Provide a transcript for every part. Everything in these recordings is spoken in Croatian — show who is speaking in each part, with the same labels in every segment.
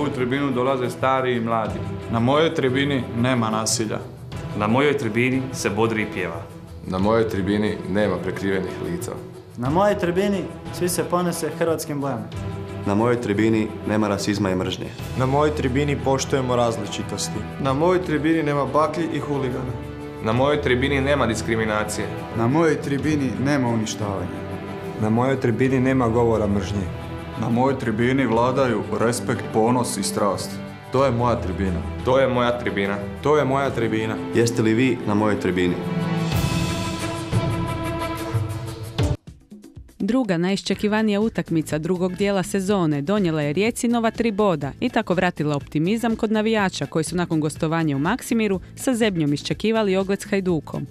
Speaker 1: moju tribinu dolaze stari i mladi.
Speaker 2: Na mojoj tribini nema nasilja.
Speaker 3: Na mojoj tribini se bodri i pjeva.
Speaker 4: Na mojoj tribini nema prekrivenih lica.
Speaker 5: Na mojoj tribini svi se ponose hrvatskim bojama.
Speaker 6: Na mojoj tribini nema rasizma i mržnje.
Speaker 7: Na mojoj tribini poštujemo različitosti.
Speaker 8: Na mojoj tribini nema baklji i huligana.
Speaker 4: Na mojoj tribini nema diskriminacije.
Speaker 9: Na mojoj tribini nema uništavanja.
Speaker 10: Na mojoj tribini nema govora mržnje.
Speaker 2: Na mojoj tribini vladaju respekt, ponos i strast.
Speaker 4: To je moja tribina. To je moja tribina.
Speaker 10: To je moja tribina.
Speaker 6: Jeste li vi na mojoj tribini?
Speaker 11: Druga najiščekivanija utakmica drugog dijela sezone donijela je Rijeci nova 3 boda i tako vratila optimizam kod navijača koji su nakon gostovanja u Maksimiru sa zebnjom iščekivali ogled s Hajdukom.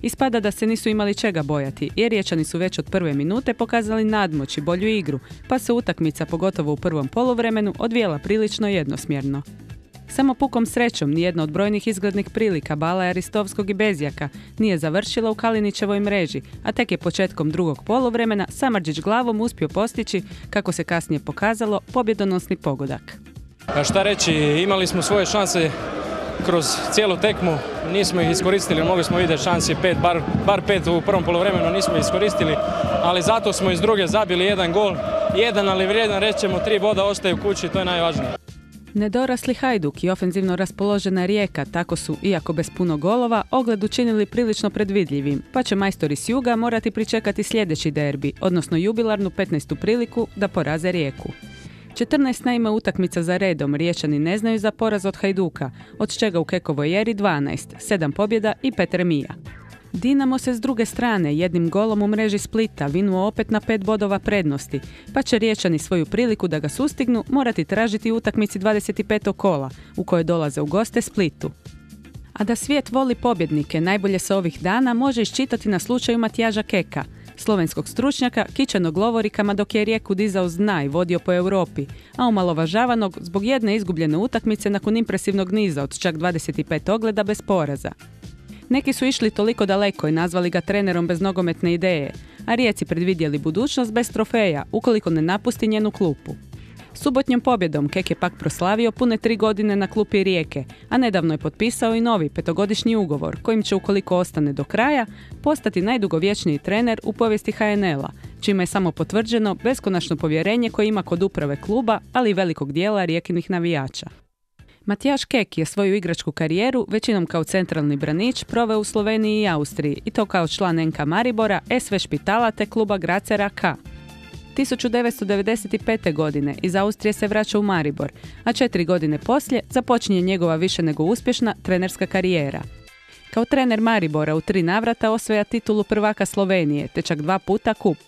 Speaker 11: Ispada da se nisu imali čega bojati, jer Riječani su već od prve minute pokazali nadmoć i bolju igru, pa se utakmica, pogotovo u prvom poluvremenu, odvijela prilično jednosmjerno. Samo pukom srećom nijedna od brojnih izglednih prilika Balaja, Ristovskog i Bezjaka nije završila u Kalinićevoj mreži, a tek je početkom drugog poluvremena Samardžić glavom uspio postići, kako se kasnije pokazalo, pobjedonosni pogodak.
Speaker 12: Šta reći, imali smo svoje šanse kroz cijelu tekmu, nismo ih iskoristili, mogli smo vidjeti šansi bar 5 u prvom poluvremenu nismo iskoristili, ali zato smo iz druge zabili jedan gol, ali vrijedan, rećemo 3 boda ostaju kući, to je najvažnije.
Speaker 11: Nedorasli Hajduk i ofenzivno raspoložena Rijeka tako su, iako bez puno golova, ogled učinili prilično predvidljivim, pa će majstori s juga morati pričekati sljedeći derbi, odnosno jubilarnu 15. priliku da poraze Rijeku. 14 naime utakmica za redom Riječani ne znaju za poraz od Hajduka, od čega u Kekovoj eri 12, 7 pobjeda i 5 remija. Dinamo se s druge strane jednim golom u mreži Splita vinuo opet na 5 bodova prednosti, pa će Riječani svoju priliku da ga sustignu morati tražiti u utakmici 25. kola, u kojoj dolaze u goste Splitu. A da svijet voli pobjednike najbolje se ovih dana može iščitati na slučaju Matijaža Keka, slovenskog stručnjaka kićenog lovorikama dok je Rijeku dizao s dna i vodio po Europi, a omalovažavanog zbog jedne izgubljene utakmice nakon impresivnog niza od čak 25 ogleda bez poraza. Neki su išli toliko daleko i nazvali ga trenerom bez nogometne ideje, a Rijeci predvidjeli budućnost bez trofeja ukoliko ne napusti njenu klupu. Subotnjom pobjedom Kek je pak proslavio pune 3 godine na klupi Rijeke, a nedavno je potpisao i novi 5-godišnji ugovor kojim će, ukoliko ostane do kraja, postati najdugovječniji trener u povijesti HNL-a, čime je samo potvrđeno beskonačno povjerenje koje ima kod uprave kluba, ali i velikog dijela Rijekinih navijača. Matijaž Kek je svoju igračku karijeru, većinom kao centralni branič, proveo u Sloveniji i Austriji, i to kao član NK Maribora, SV Špitala te kluba Gracera K. 1995. godine iz Austrije se vraća u Maribor, a 4 godine poslije započinje njegova više nego uspješna trenerska karijera. Kao trener Maribora u 3 navrata osvaja titulu prvaka Slovenije, te čak 2 puta kup.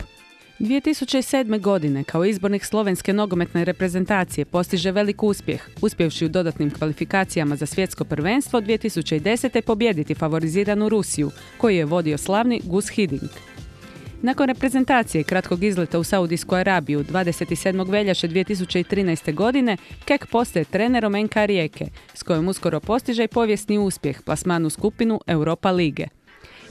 Speaker 11: 2007. godine kao izbornik slovenske nogometne reprezentacije postiže velik uspjeh, uspjevši u dodatnim kvalifikacijama za svjetsko prvenstvo 2010. pobijediti favoriziranu Rusiju, koju je vodio slavni Gus Hiddink. Nakon reprezentacije kratkog izleta u Saudijsku Arabiju 27. veljače 2013. godine, Kek postaje trenerom NK Rijeke, s kojom uskoro postiže i povijesni uspjeh, plasman u skupinu Europa lige.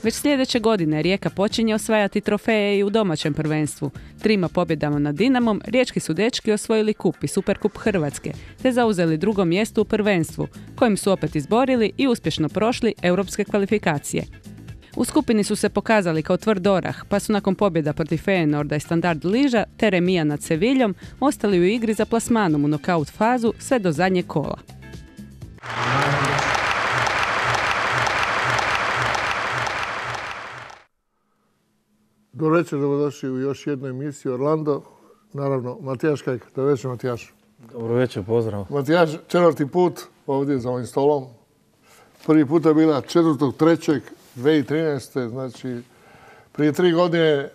Speaker 11: Već sljedeće godine Rijeka počinje osvajati trofeje i u domaćem prvenstvu. 3 pobjedama nad Dinamom riječki su dečki osvojili kup i Superkup Hrvatske, te zauzeli 2. mjesto u prvenstvu, kojim su opet izborili i uspješno prošli europske kvalifikacije. U skupini su se pokazali kao tvrd orah, pa su nakon pobjeda protiv Feyenoorda i Standard Liža te remija nad Seviljom ostali u igri za plasmanom u nokaut fazu sve do zadnjeg kola.
Speaker 13: Dobro večer, dobrodošli u još jednu emisiju Orlando. Naravno, Matijaž Kek. Dobro večer, Matijaž.
Speaker 14: Dobro večer, pozdrav.
Speaker 13: Matijaž, 4. put ovdje za ovim stolom. Prvi puta je bila 4.3.2013. Znači, prije 3 godine,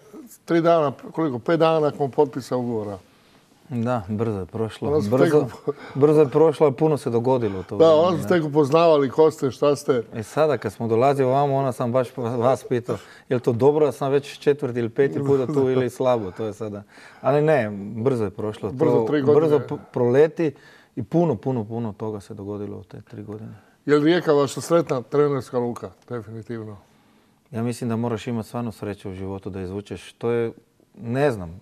Speaker 13: 3 dana, 5 dana nakon potpisa ugovora.
Speaker 14: Da, brzo je prošlo. Brzo je prošlo, a puno se dogodilo.
Speaker 13: Onda ste tek upoznavali ko ste, šta ste.
Speaker 14: Sada kad smo dolazili ovamo, onda sam baš vas pitao, je li to dobro da sam već 4. ili 5. puta tu ili slabo, to je sada. Ali ne, brzo je prošlo. Brzo proleti i puno toga se dogodilo u te 3 godine.
Speaker 13: Je li Rijeka vaša sretna trenerska luka? Definitivno.
Speaker 14: Ja mislim da moraš imati stvarno sreću u životu da izvučeš. To je, ne znam,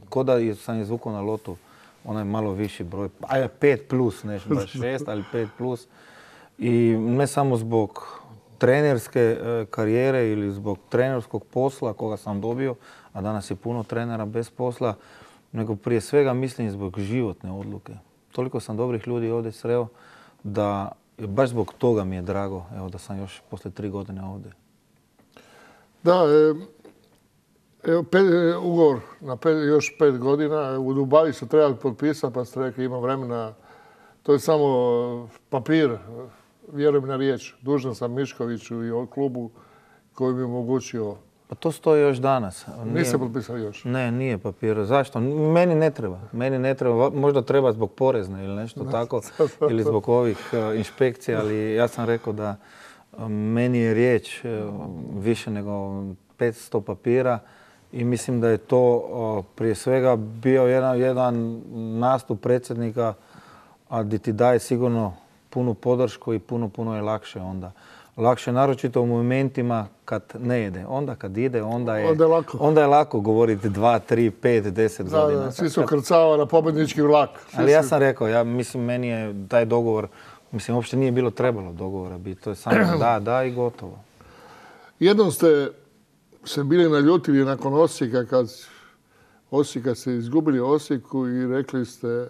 Speaker 14: ko da sam izvukao na lotu onaj malo viši broj, 5+, ne baš 6, ali 5+. I ne samo zbog trenerske karijere ili zbog trenerskog posla koga sam dobio, a danas je puno trenera bez posla, nego prije svega mislim zbog životne odluke. Toliko sam dobrih ljudi ovdje sreo da baš zbog toga mi je drago evo, da sam još poslije 3 godine ovdje.
Speaker 13: Da, evo, ugovor na još 5 godina. U Dubaji su trebali potpisati, pa ste rekli ima vremena. To je samo papir, vjerujem na riječ. Dužan sam Miškoviću i klubu koji mi je omogućio.
Speaker 14: Pa to stoji još danas.
Speaker 13: Niste potpisali još?
Speaker 14: Ne, nije papir. Zašto? Meni ne treba. Meni ne treba. Možda treba zbog porezne ili nešto tako. Ili zbog ovih inspekcija. Ali ja sam rekao da meni je riječ više nego 500 papira. I mislim da je to prije svega bio jedan nastup predsjednika, a di ti daje sigurno punu podršku i puno je lakše onda. Lakše naročito u momentima kad ne ide. Onda kad ide, onda je lako govoriti 2, 3, 5, 10 godina.
Speaker 13: Da, svi su krcava na pobjednički vlak.
Speaker 14: Ali ja sam rekao, mislim, meni je taj dogovor, mislim, uopšte nije bilo trebalo dogovora biti. To je samo da i gotovo.
Speaker 13: Jednom ste se bili naljutili nakon Osijeka, kad ste izgubili Osijeku i rekli ste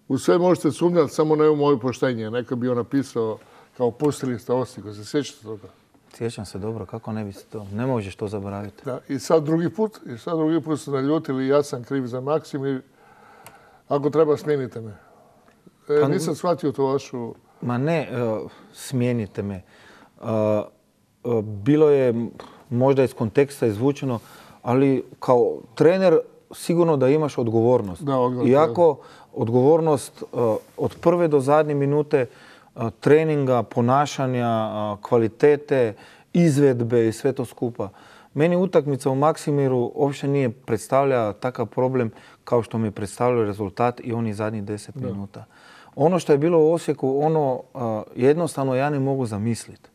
Speaker 13: u sve možete sumnjati, samo ne u moje poštenje. Neko je bio napisao kao pustili ste Osijeku. Se sjećate toga?
Speaker 14: Sjećam se dobro, kako ne biste to? Ne možeš to zaboraviti.
Speaker 13: Da, i sad drugi put ste naljutili, ja sam kriv za Maksim i ako treba smijenite me. Nisam shvatio to vašu...
Speaker 14: Ma ne, smijenite me. Bilo je možda iz konteksta izvučeno, ali kao trener sigurno da imaš odgovornost. Iako odgovornost od prve do zadnje minute treninga, ponašanja, kvalitete, izvedbe i sve to skupa. Meni utakmica u Maksimiru uopće nije predstavlja takav problem kao što mi predstavljaju rezultat i oni zadnjih 10 minuta. Ono što je bilo u Osijeku, jednostavno ja ne mogu zamisliti.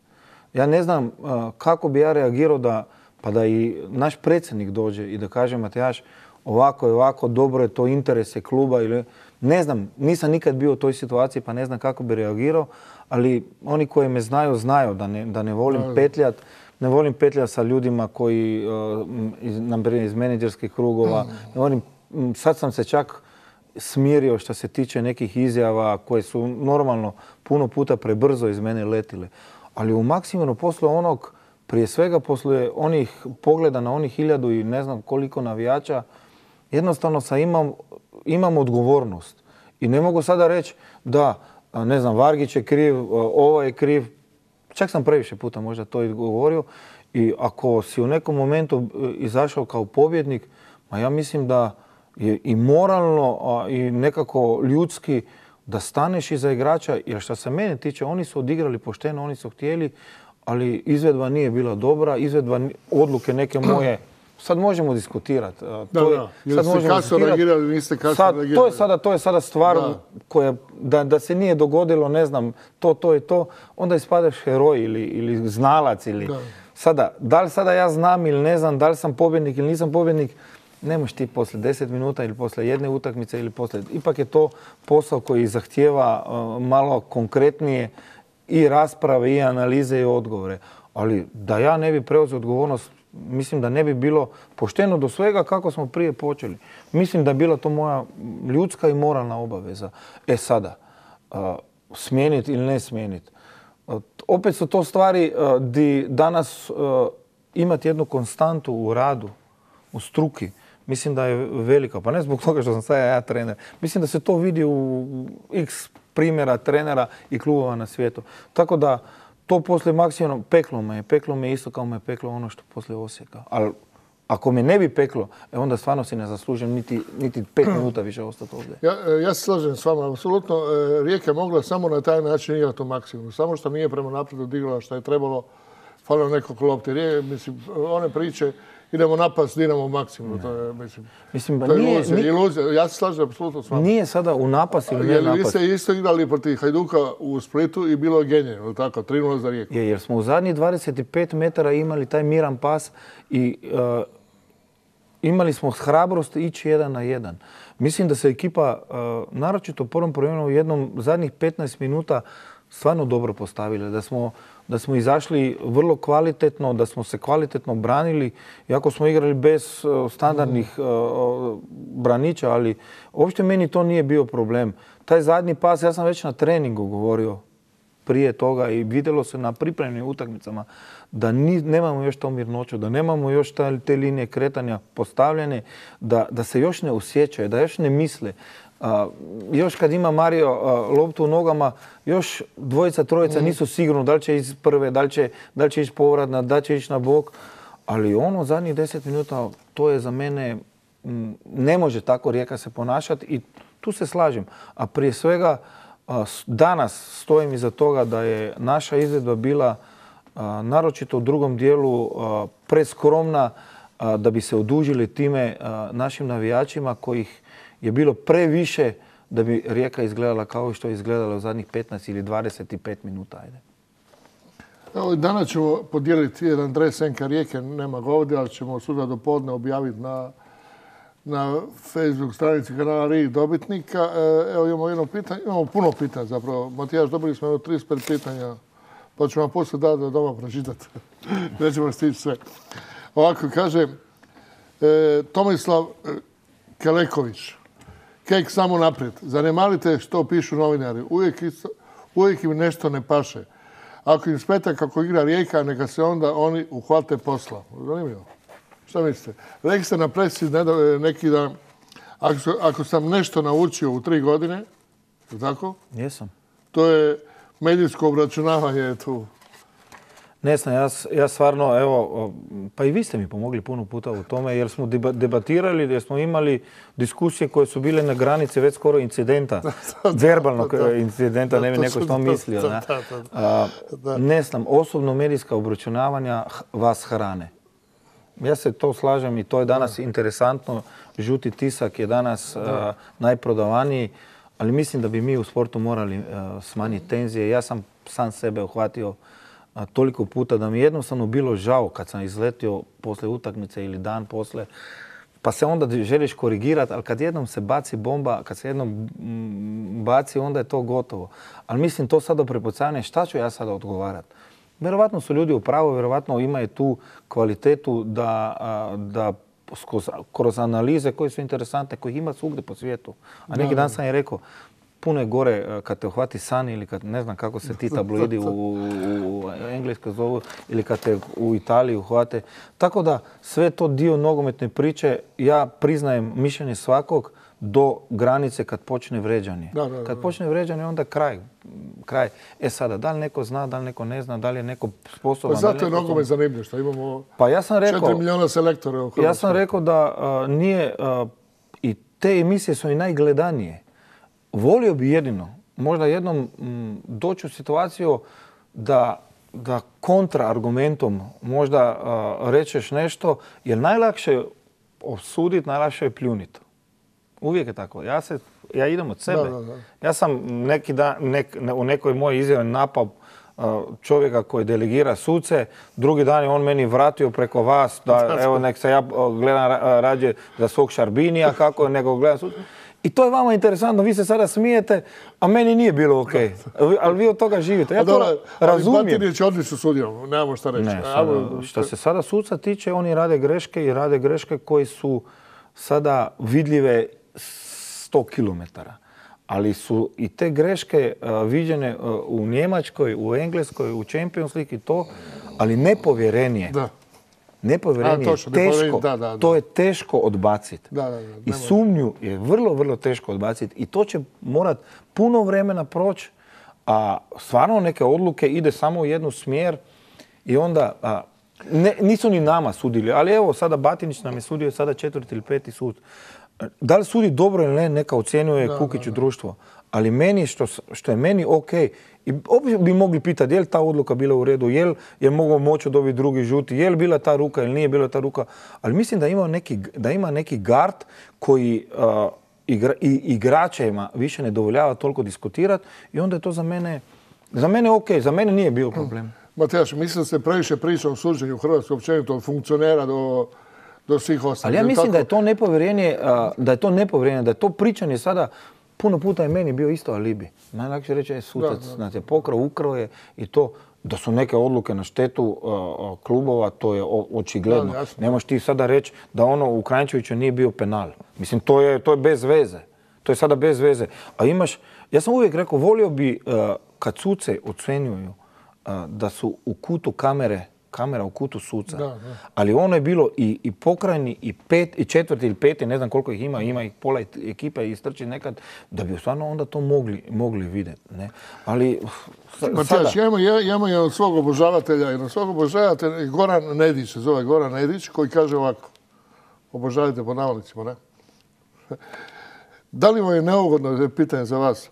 Speaker 14: Ja ne znam kako bi ja reagirao da i naš predsjednik dođe i da kaže Matejaš, ovako je ovako, dobro je to interese kluba ili... Ne znam, nisam nikad bio u toj situaciji pa ne znam kako bi reagirao, ali oni koji me znaju da ne volim petljat. Ne volim petljat sa ljudima koji, iz menadžerskih krugova. Sad sam se čak smirio što se tiče nekih izjava koje su normalno puno puta prebrzo iz mene letile. Ali u Maksimiru poslije onog, prije svega poslije onih pogleda na onih 1000 i ne znam koliko navijača, jednostavno imam odgovornost. I ne mogu sada reći da, ne znam, Vargić je kriv, ovo je kriv. Čak sam previše puta možda to i govorio. I ako si u nekom momentu izašao kao pobjednik, ja mislim da je i moralno i nekako ljudski da staneš iza igrača. Jer što se mene tiče, oni su odigrali pošteno, oni su htjeli, ali izvedba nije bila dobra. Izvedba odluke neke moje, sad možemo diskutirati.
Speaker 13: Jer ste kasno reagirali, niste kasno reagirali.
Speaker 14: To je sada stvar koja, da se nije dogodilo, ne znam, to i to, onda ispadaš heroj ili znalac. Sada, da li sada ja znam ili ne znam, da li sam pobjednik ili nisam pobjednik, ne možeš ti poslije 10 minuta ili poslije jedne utakmice ili poslije... Ipak je to posao koji zahtijeva malo konkretnije i rasprave i analize i odgovore. Ali da ja ne bi preuzeo odgovornost, mislim da ne bi bilo pošteno do svega kako smo prije počeli. Mislim da je bila to moja ljudska i moralna obaveza. Sada, smijeniti ili ne smijeniti. Opet su to stvari di danas imati jednu konstantu u radu, u struki. Mislim da je velika, pa ne zbog toga što sam sad ja trener. Mislim da se to vidi u x primjera trenera i klubova na svijetu. Tako da to poslije Maksimira peklo me isto kao me peklo ono što poslije Osijeka. Ali ako me ne bi peklo, onda stvarno si ne zaslužim niti 5 minuta više ostati ovdje.
Speaker 13: Ja se slažem s vama, apsolutno. Rijeka je mogla samo na taj način igrati u Maksimiru. Samo što nije prema naprijed odigrala što je trebalo, falilo nekog lopti. Mislim, one priče, idemo napast Dinamo u Maksimiru. To je, to je iluzija. Ja se slažem apsolutno s vama.
Speaker 14: Nije sada u napast ili ne napast.
Speaker 13: Vi ste isto igrali protiv Hajduka u Splitu i bilo je genijno, tako, 3-0 za Rijeku.
Speaker 14: Jer smo u zadnjih 25 metara imali taj miran pas i imali smo hrabrost ići 1-1. Mislim da se ekipa, naročito u prvom prvenstvu, u jednom zadnjih 15 minuta stvarno dobro postavili. Da smo izašli vrlo kvalitetno, da smo se kvalitetno branili, iako smo igrali bez standardnih braniča, ali uopšte meni to nije bio problem. Taj zadnji pas, ja sam već na treningu govorio prije toga i vidjelo se na pripremnim utakmicama da nemamo još to mirnoću, da nemamo još te linije kretanja postavljene, da se još ne osjećaju, da još ne misle. Još kad ima Mario loptu u nogama, još dvojica, trojica nisu sigurno da li će ići prve, da li će ići povratna, da li će ići na bok. Ali ono zadnjih 10 minuta, to je za mene, ne može tako Rijeka se ponašati i tu se slažem. A prije svega, danas stojim iza toga da je naša izvedba bila naročito u drugom dijelu preskromna da bi se odužili time našim navijačima kojih je bilo previše da bi Rijeka izgledala kao što je izgledala u zadnjih 15 ili 25 minuta. Ajde.
Speaker 13: Evo, danas ćemo podijeliti jedan dres NK Rijeke, nema ga ovdje, ali ćemo sutra do podne objaviti na Facebook stranici kanala Rijek dobitnika. Evo imamo jedno pitanje, imamo puno pitanja zapravo. Matijaš, dobili smo 35 pitanja, pa ću vam poslije dati da doma pročitati. Nećemo stići sve. Ovako kaže Tomislav Keleković. Kek samo naprijed. Zanemarite što pišu novinari. Uvijek im nešto ne paše. Ako im smeta kako igra Rijeka, neka se onda oni uhvate posla. Zanimljivo. Šta mislite? Rekli ste na presi neki dan, ako sam nešto naučio u 3 godine, tako?
Speaker 14: Jesam.
Speaker 13: To je medijsko obračunavanje tu.
Speaker 14: Ne znam, ja stvarno, evo, pa i vi ste mi pomogli puno puta u tome jer smo debatirali, jer smo imali diskusije koje su bile na granici već skoro incidenta, verbalnog incidenta, ne bi neko što mislio. Ne znam, osobno medijska obračunavanja vas hrane. Ja se to slažem i to je danas interesantno. Žuti tisak je danas najprodavaniji, ali mislim da bi mi u sportu morali smanjiti tenzije. Ja sam sam sebe uhvatio toliko puta da mi jednostavno bilo žao kad sam izletio posle utakmice ili dan posle, pa se onda želiš korigirati, ali kad jednom se baci bomba, kad se jednom baci, onda je to gotovo. Ali mislim to sada prepucavanje, šta ću ja sada odgovarati? Vjerovatno su ljudi u pravu, vjerovatno imaju tu kvalitetu da kroz analize koje su interesantne, kojih ima svugdje po svijetu. A neki dan sam je rekao, puno je gore kad te uhvati san ili kad ne znam kako se ti tabloidi u Engleskoj zovu ili kad te u Italiji uhvate. Tako da sve to dio nogometne priče, ja priznajem mišljenje svakog do granice kad počne vređanje. Kad počne vređanje onda kraj. Sada, da li neko zna, da li neko ne zna, da li je neko sposoban.
Speaker 13: Pa zato je nogomet zanimljiv što imamo
Speaker 14: 4
Speaker 13: milijuna selektora u Hrvatskoj.
Speaker 14: Ja sam rekao da nije, i te emisije su i najgledanije. Volio bi jedino, možda jednom doći u situaciju da kontraargumentom možda rečeš nešto, jer najlakše je osuditi, najlakše je pljuniti. Uvijek je tako. Ja idem od sebe. Ja sam neki dan u nekoj mojoj izjavi napao čovjeka koji delegira suce, drugi dan je on meni vratio preko vas da evo nek se ja gledam rađe za svog Šarbinija kako nego gledam suce. I to je vama interesantno, vi se sada smijete, a meni nije bilo ok. Ali vi od toga živite. Ja to razumijem.
Speaker 13: Ali Batinić je odlično sudio, nemamo šta reći.
Speaker 14: Što se sada suca tiče, oni rade greške i rade greške koji su sada vidljive 100 km. Ali su i te greške viđene u Njemačkoj, u Engleskoj, u Champions League i to, ali nepovjerenje. Nepovjerenje je teško, to je teško odbaciti. I sumnju je vrlo, vrlo teško odbaciti. I to će morat puno vremena proći, a stvarno neke odluke ide samo u jednu smjer i onda nisu ni nama sudili. Ali evo, sada Batinić nam je sudio sada 4. ili 5. sud. Da li sudi dobro ili ne, neka ocjenjuje Kukić u društvo. Ali meni, što je meni ok, i opet bi mogli pitati je li ta odluka bila u redu, je li mogao moći dobiti drugi žuti, je li bila ta ruka ili nije bila ta ruka. Ali mislim da ima neki gard koji igračima više ne dovoljava toliko diskutirati i onda je to za mene ok, za mene nije bio problem.
Speaker 13: Matijaš, mislim da se previše priča o suđenju u Hrvatskoj općenito od funkcionera do do svih ostalih.
Speaker 14: Ali ja mislim da je to nepovjerenje, da je to pričanje sada, puno puta je meni bio isto alibi. Najlakše reći je sudac, znate, pokrao, ukrao je i to. Da su neke odluke na štetu klubova, to je očigledno. Ne možeš ti sada reći da ono u Kranjčeviću nije bio penal. Mislim, to je bez veze. To je sada bez veze. A imaš, ja sam uvijek rekao, volio bi kad suce ocenjuju da su u kutu kamera u kutu suca. Ali ono je bilo i pokrajni, i četvrti ili peti, ne znam koliko ih ima ih pola ekipa i istrči nekad, da bi stvarno onda to mogli vidjeti. Ali
Speaker 13: Matijaš, ja imam jednog svog obožavatelja, Goran Nedić, se zove Goran Nedić, koji kaže ovako, obožavajte po navodnicima, ne? Da li vam je neugodno, pitanje za vas,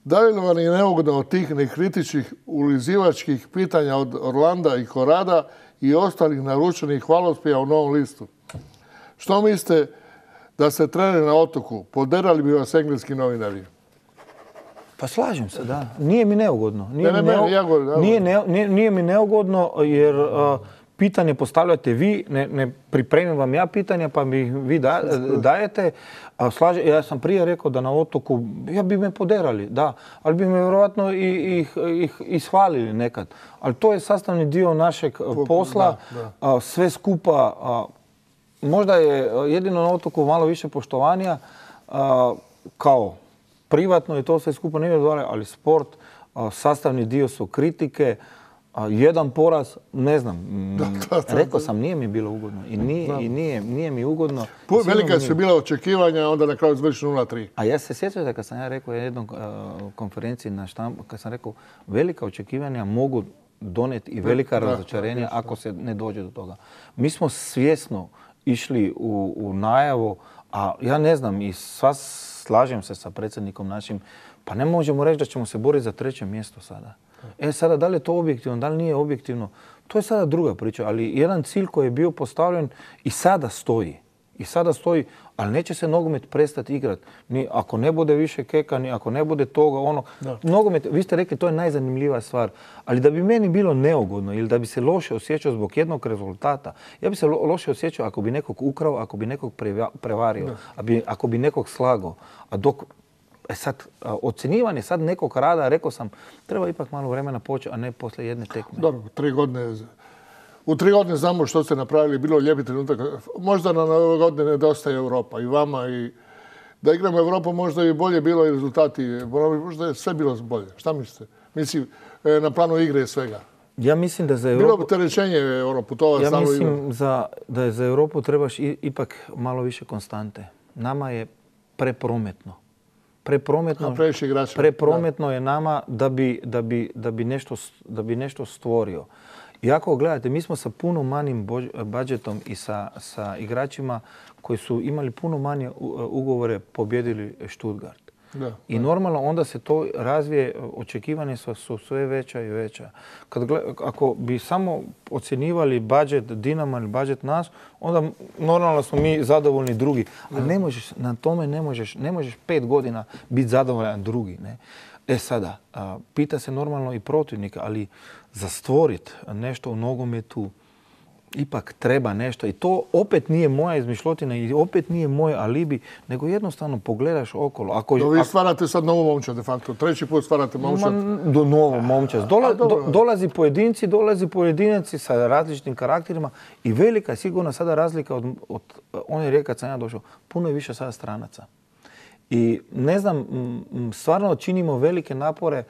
Speaker 13: da li vam je neugodno od tih nekritičnih ulizivačkih pitanja od Orlanda i Korada i ostalih naručenih hvalospjeva u Novom listu? Što mislite da ste trener na Otoku? Poderali bi vas engleski novinari?
Speaker 14: Pa slažem se, da. Nije mi neugodno.
Speaker 13: Nije
Speaker 14: mi neugodno jer pitanje postavljate vi, ne pripremim vam ja pitanja pa mi vi dajete. Ja sam prije rekao da na Otoku, ja bi me poderali, da, ali bi me vjerojatno i ishvalili nekad. Ali to je sastavni dio našeg posla, sve skupa. Možda je jedino na Otoku malo više poštovanja, kao privatno i to sve skupa nije odgovaralo, ali sport, sastavni dio su kritike, jedan poraz, ne znam, rekao sam, nije mi bilo ugodno i nije mi ugodno.
Speaker 13: Velika su bila očekivanja, onda na kraju završi 0-3.
Speaker 14: A ja se sjećam da kad sam ja rekao jednom konferenciji na štampu, kad sam rekao velika očekivanja mogu doneti i velika razočarenja ako se ne dođe do toga. Mi smo svjesno išli u najavu, a ja ne znam i slažem se sa predsjednikom našim, pa ne možemo reći da ćemo se boriti za 3. mjesto sada. Sada, da li je to objektivno, da li nije objektivno, to je sada druga priča, ali jedan cilj koji je bio postavljen i sada stoji, ali neće se nogomet prestati igrati. Ni ako ne bude više keka, ni ako ne bude toga, nogomet, vi ste rekli, to je najzanimljivija stvar, ali da bi meni bilo neugodno ili da bi se loše osjećao zbog jednog rezultata, ja bi se loše osjećao ako bi nekog ukrao, ako bi nekog prevario, ako bi nekog slagao. A dok sad, ocjenjivanje sad nekog rada, rekao sam, treba ipak malo vremena poći, a ne poslije jedne tekme.
Speaker 13: Dobro, 3 godine. U 3 godine znamo što ste napravili, bilo lijepi trenutak. Možda na Nove godine nedostaje Europa i vama i da igramo Europu možda i bolje bilo i rezultati. Možda je sve bilo bolje. Šta mislite? Mislim, na planu igre i svega.
Speaker 14: Ja mislim da za Europu...
Speaker 13: Bilo opterećenje putovati stalno igru.
Speaker 14: Ja mislim da za Europu trebaš ipak malo više konstante. Nama je preprometno. Preprometno je nama da bi nešto stvorio. I ako gledate, mi smo sa puno manjim budžetom i sa igračima koji su imali puno manje ugovore pobjedili Stuttgart. I normalno onda se to razvije, očekivanja su sve veća i veća. Ako bi samo ocjenjivali budžet Dinama ili budžet nas, onda normalno smo mi zadovoljni drugi. Ali ne možeš, na tome ne možeš 5 godina biti zadovoljan drugi. Ne? Sada, pita se normalno i protivnika, ali za stvoriti nešto u nogometu ipak treba nešto. I to opet nije moja izmišljotina i opet nije moj alibi, nego jednostavno pogledaš okolo.
Speaker 13: Vi stvarate sad novu momčad, de facto. 3. put stvarate momčad.
Speaker 14: Novu momčad. Dolazi pojedinaci sa različitim karakterima i velika je sigurno sada razlika od one rije kad sam ja došao. Puno je više sada stranaca. I ne znam, stvarno činimo velike napore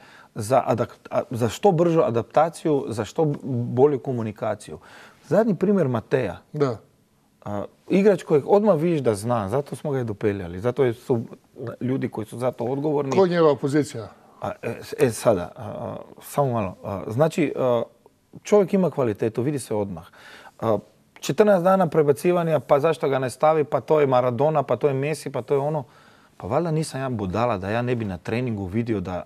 Speaker 14: za što bržu adaptaciju, za što bolju komunikaciju. Zadnji primjer Mateja.
Speaker 13: Da.
Speaker 14: Igrač kojeg odmah vidiš da zna, zato smo ga i dopeljali. Zato su ljudi koji su za to odgovorni.
Speaker 13: Koja je njegova pozicija?
Speaker 14: Sada, samo malo. Znači, čovjek ima kvalitetu, vidi se odmah. 14 dana prebacivanja, pa zašto ga ne stavi, pa to je Maradona, pa to je Messi, pa to je ono. Pa valjda nisam ja budala da ja ne bi na treningu vidio da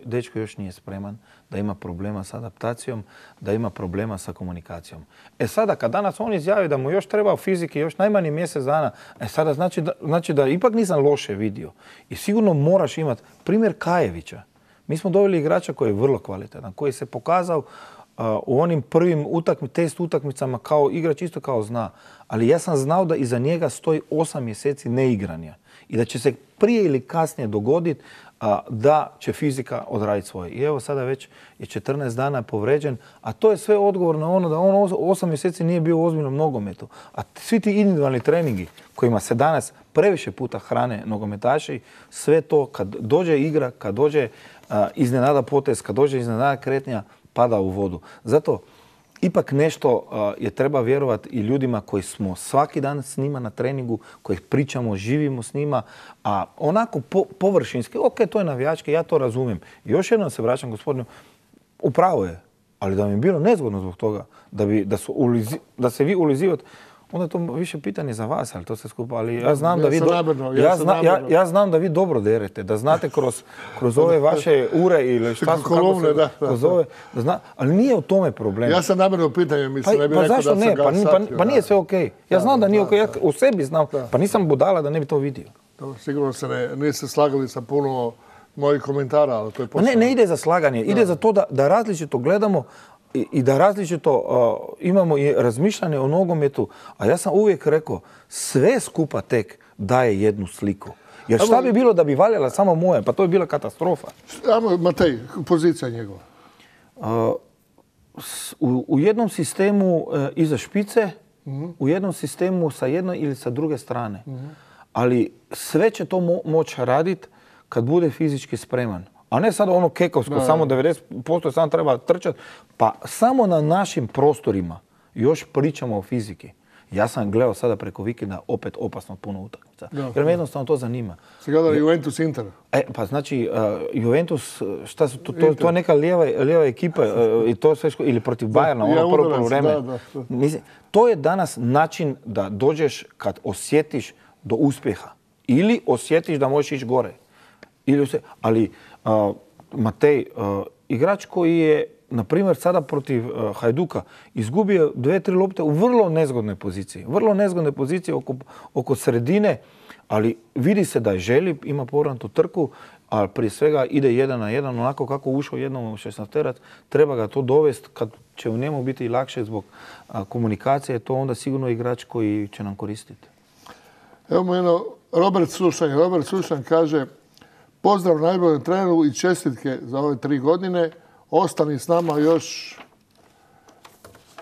Speaker 14: dečko još nije spreman, da ima problema s adaptacijom, da ima problema sa komunikacijom. Sada kad danas on izjavi da mu još treba fizike, još najmanje mjesec dana, sada znači da ipak nisam loše vidio. I sigurno moraš imati primjer Kajevića. Mi smo doveli igrača koji je vrlo kvalitetan, koji se pokazao u onim prvim test utakmicama kao igrač isto kao zna. Ali ja sam znao da iza njega stoji 8 mjeseci neigranja i da će se prije ili kasnije dogoditi da će fizika odraditi svoje. I evo sada već je 14 dana povređen, a to je sve odgovor na ono da on 8 mjeseci nije bio u ozbiljnom nogometu. A svi ti individualni treningi kojima se danas previše puta hrane nogometaši, sve to kad dođe igra, kad dođe iznenada potez, kad dođe iznenada kretnja, pada u vodu. Zato ipak nešto je treba vjerovati i ljudima koji smo svaki dan s njima na treningu, koji pričamo, živimo s njima, a onako površinski, ok, to je navijački, ja to razumijem. I još jednom se vraćam gospodinu, upravo je, ali da mi je bilo nezgodno zbog toga, da se vi ulizivate, onda je to više pitanje za vas, ali to se skupa, ali ja znam da vi znam da vi dobro derete, da znate kroz ove vaše ure ili šta su
Speaker 13: kolumne,
Speaker 14: ali nije u tome problem.
Speaker 13: Ja sam namjerno pitanje, mislim, ne bih rekao da sam ga satio.
Speaker 14: Pa nije sve okej. Ja znam da nije okej, ja u sebi znam, pa nisam budala da ne bi to vidio.
Speaker 13: Sigurno se niste slagali sa puno mojih komentara, ali to je posao.
Speaker 14: Ne ide za slaganje, ide za to da različito gledamo i da različito imamo i razmišljanje o nogometu, a ja sam uvijek rekao, sve skupa tek daje jednu sliku. Jer šta bi bilo da bi valjala samo moje, pa to je bila katastrofa.
Speaker 13: Matej, pozicija njegova?
Speaker 14: U jednom sistemu iza špice, u jednom sistemu sa jedne ili sa druge strane. Ali sve će to moći raditi kad bude fizički spreman. A ne sad ono kekovsko, samo 90% samo treba trčati. Pa samo na našim prostorima još pričamo o fiziki. Ja sam gledao sada preko vikenda opet opasno puno utakmica. Jer me jednostavno to zanima.
Speaker 13: Se gledali Juventus Inter?
Speaker 14: Pa znači, Juventus, šta su, to je neka lijeva ekipa i to sve ili protiv Bayerna, ono prvo vreme. To je danas način da dođeš kad osjetiš do uspjeha. Ili osjetiš da možeš ići gore. Ali Matej, igrač koji je, na primjer, sada protiv Hajduka izgubio 2-3 lopte u vrlo nezgodnoj poziciji. Vrlo nezgodnoj poziciji oko sredine, ali vidi se da je želi, ima povratnu trku, a prije svega ide 1-1, onako kako ušao jednom u 16-terac, treba ga to dovesti kad će u njemu biti lakše zbog komunikacije, to onda sigurno igrač koji će nam koristiti.
Speaker 13: Evo jedno, Robert Sušanj kaže: pozdrav najboljem treneru i čestitke za ove 3 godine. Ostani s nama još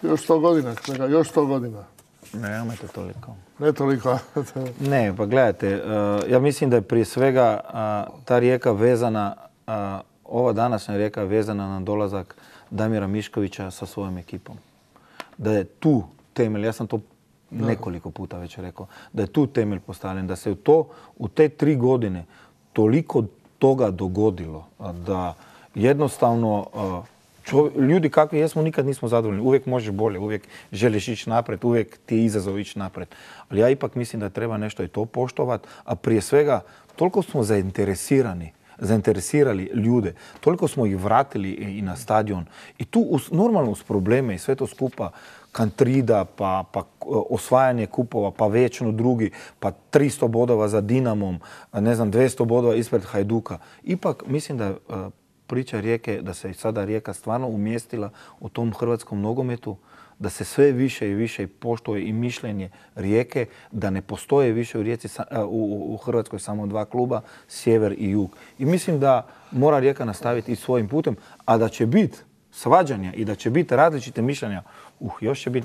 Speaker 13: 100 godina. Još 100 godina.
Speaker 14: Nemojte toliko.
Speaker 13: Ne toliko.
Speaker 14: Ne, pa gledajte, ja mislim da je prije svega ta Rijeka vezana, ova današnja Rijeka je vezana na dolazak Damira Miškovića sa svojom ekipom. Da je tu temelj, ja sam to nekoliko puta već rekao, da je tu temelj postavljen, da se u te 3 godine toliko toga dogodilo da jednostavno ljudi kakvi jesmo nikad nismo zadovoljni. Uvijek možeš bolje, uvijek želiš ići naprijed, uvijek ti je izazov ići naprijed. Ali ja ipak mislim da treba nešto i to poštovati, a prije svega toliko smo zainteresirali ljude, toliko smo ih vratili i na stadion. I tu normalno uz probleme i sve to skupa, Kantrida, pa osvajanje kupova, pa večno drugi, pa 300 bodova za Dinamom, 200 bodova ispred Hajduka. Ipak mislim da priča Rijeke, da se sada Rijeka stvarno umjestila u tom hrvatskom nogometu, da se sve više i više poštuje i mišljenje Rijeke, da ne postoje više u Hrvatskoj samo 2 kluba, sjever i jug. I mislim da mora Rijeka nastaviti i svojim putem, a da će biti svađanja i da će biti različite mišljenja,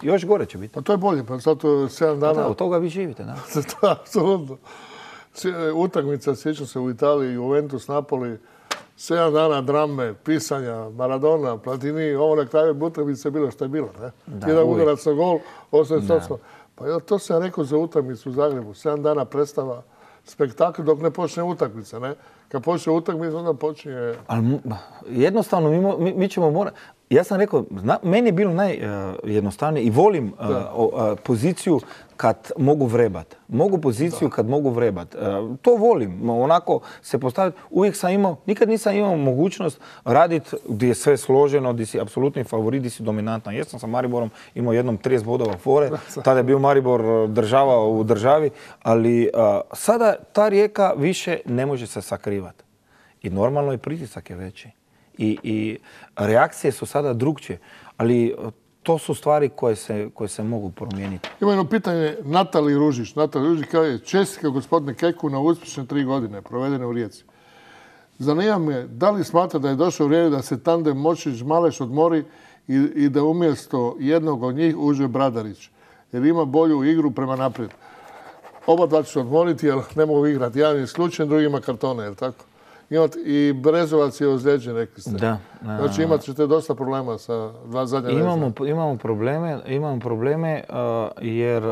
Speaker 14: još gore će biti.
Speaker 13: Pa to je bolje, pa zato 7 dana...
Speaker 14: Od toga vi živite, da?
Speaker 13: Apsolutno. Utakmica, sjećam se u Italiji, Juventus, Napoli, 7 dana drame, pisanja, Maradona, Platini, ovo na kraju utakmice je bilo što je bilo. Jedan udarac na gol, 8-8. Pa to sam rekao za utakmicu u Zagrebu. 7 dana predstava, spektakl dok ne počne utakmica. Kad počne utakmica, onda počinje...
Speaker 14: Ali jednostavno mi ćemo morati... Ja sam rekao, meni je bilo najjednostavnije i volim poziciju kad mogu vrebat. Mogu poziciju kad mogu vrebat. To volim. Onako se postaviti. Uvijek sam imao, nikad nisam imao mogućnost raditi gdje je sve složeno, gdje si apsolutni favorit, gdje si dominantan. Jesam sa Mariborom imao jednom 30 bodova fore. Tada je bio Maribor država u državi. Ali sada ta Rijeka više ne može se sakrivati. I normalno i pritisak je veći. i reakcije su sada drugčije. Ali to su stvari koje se mogu promijeniti.
Speaker 13: Ima jedno pitanje Natali Ružić. Natali Ružić kaže, čestitka gospodine Keku na uspješne 3 godine provedene u Rijeci. Zanima me, da li smatra da je došlo vrijeme da se tandem Močić-Maleš odmori i da umjesto jednog od njih uđe Bradarić, jer ima bolju igru prema naprijed. Oba dva će se odmoriti jer ne mogu igrati. Jedan je isključen, drugi ima kartone, je li tako? I Brezovac je ozlijeđen, rekli ste.
Speaker 14: Da.
Speaker 13: Znači imat ćete dosta problema sa dva zadnja vezna.
Speaker 14: Imamo probleme jer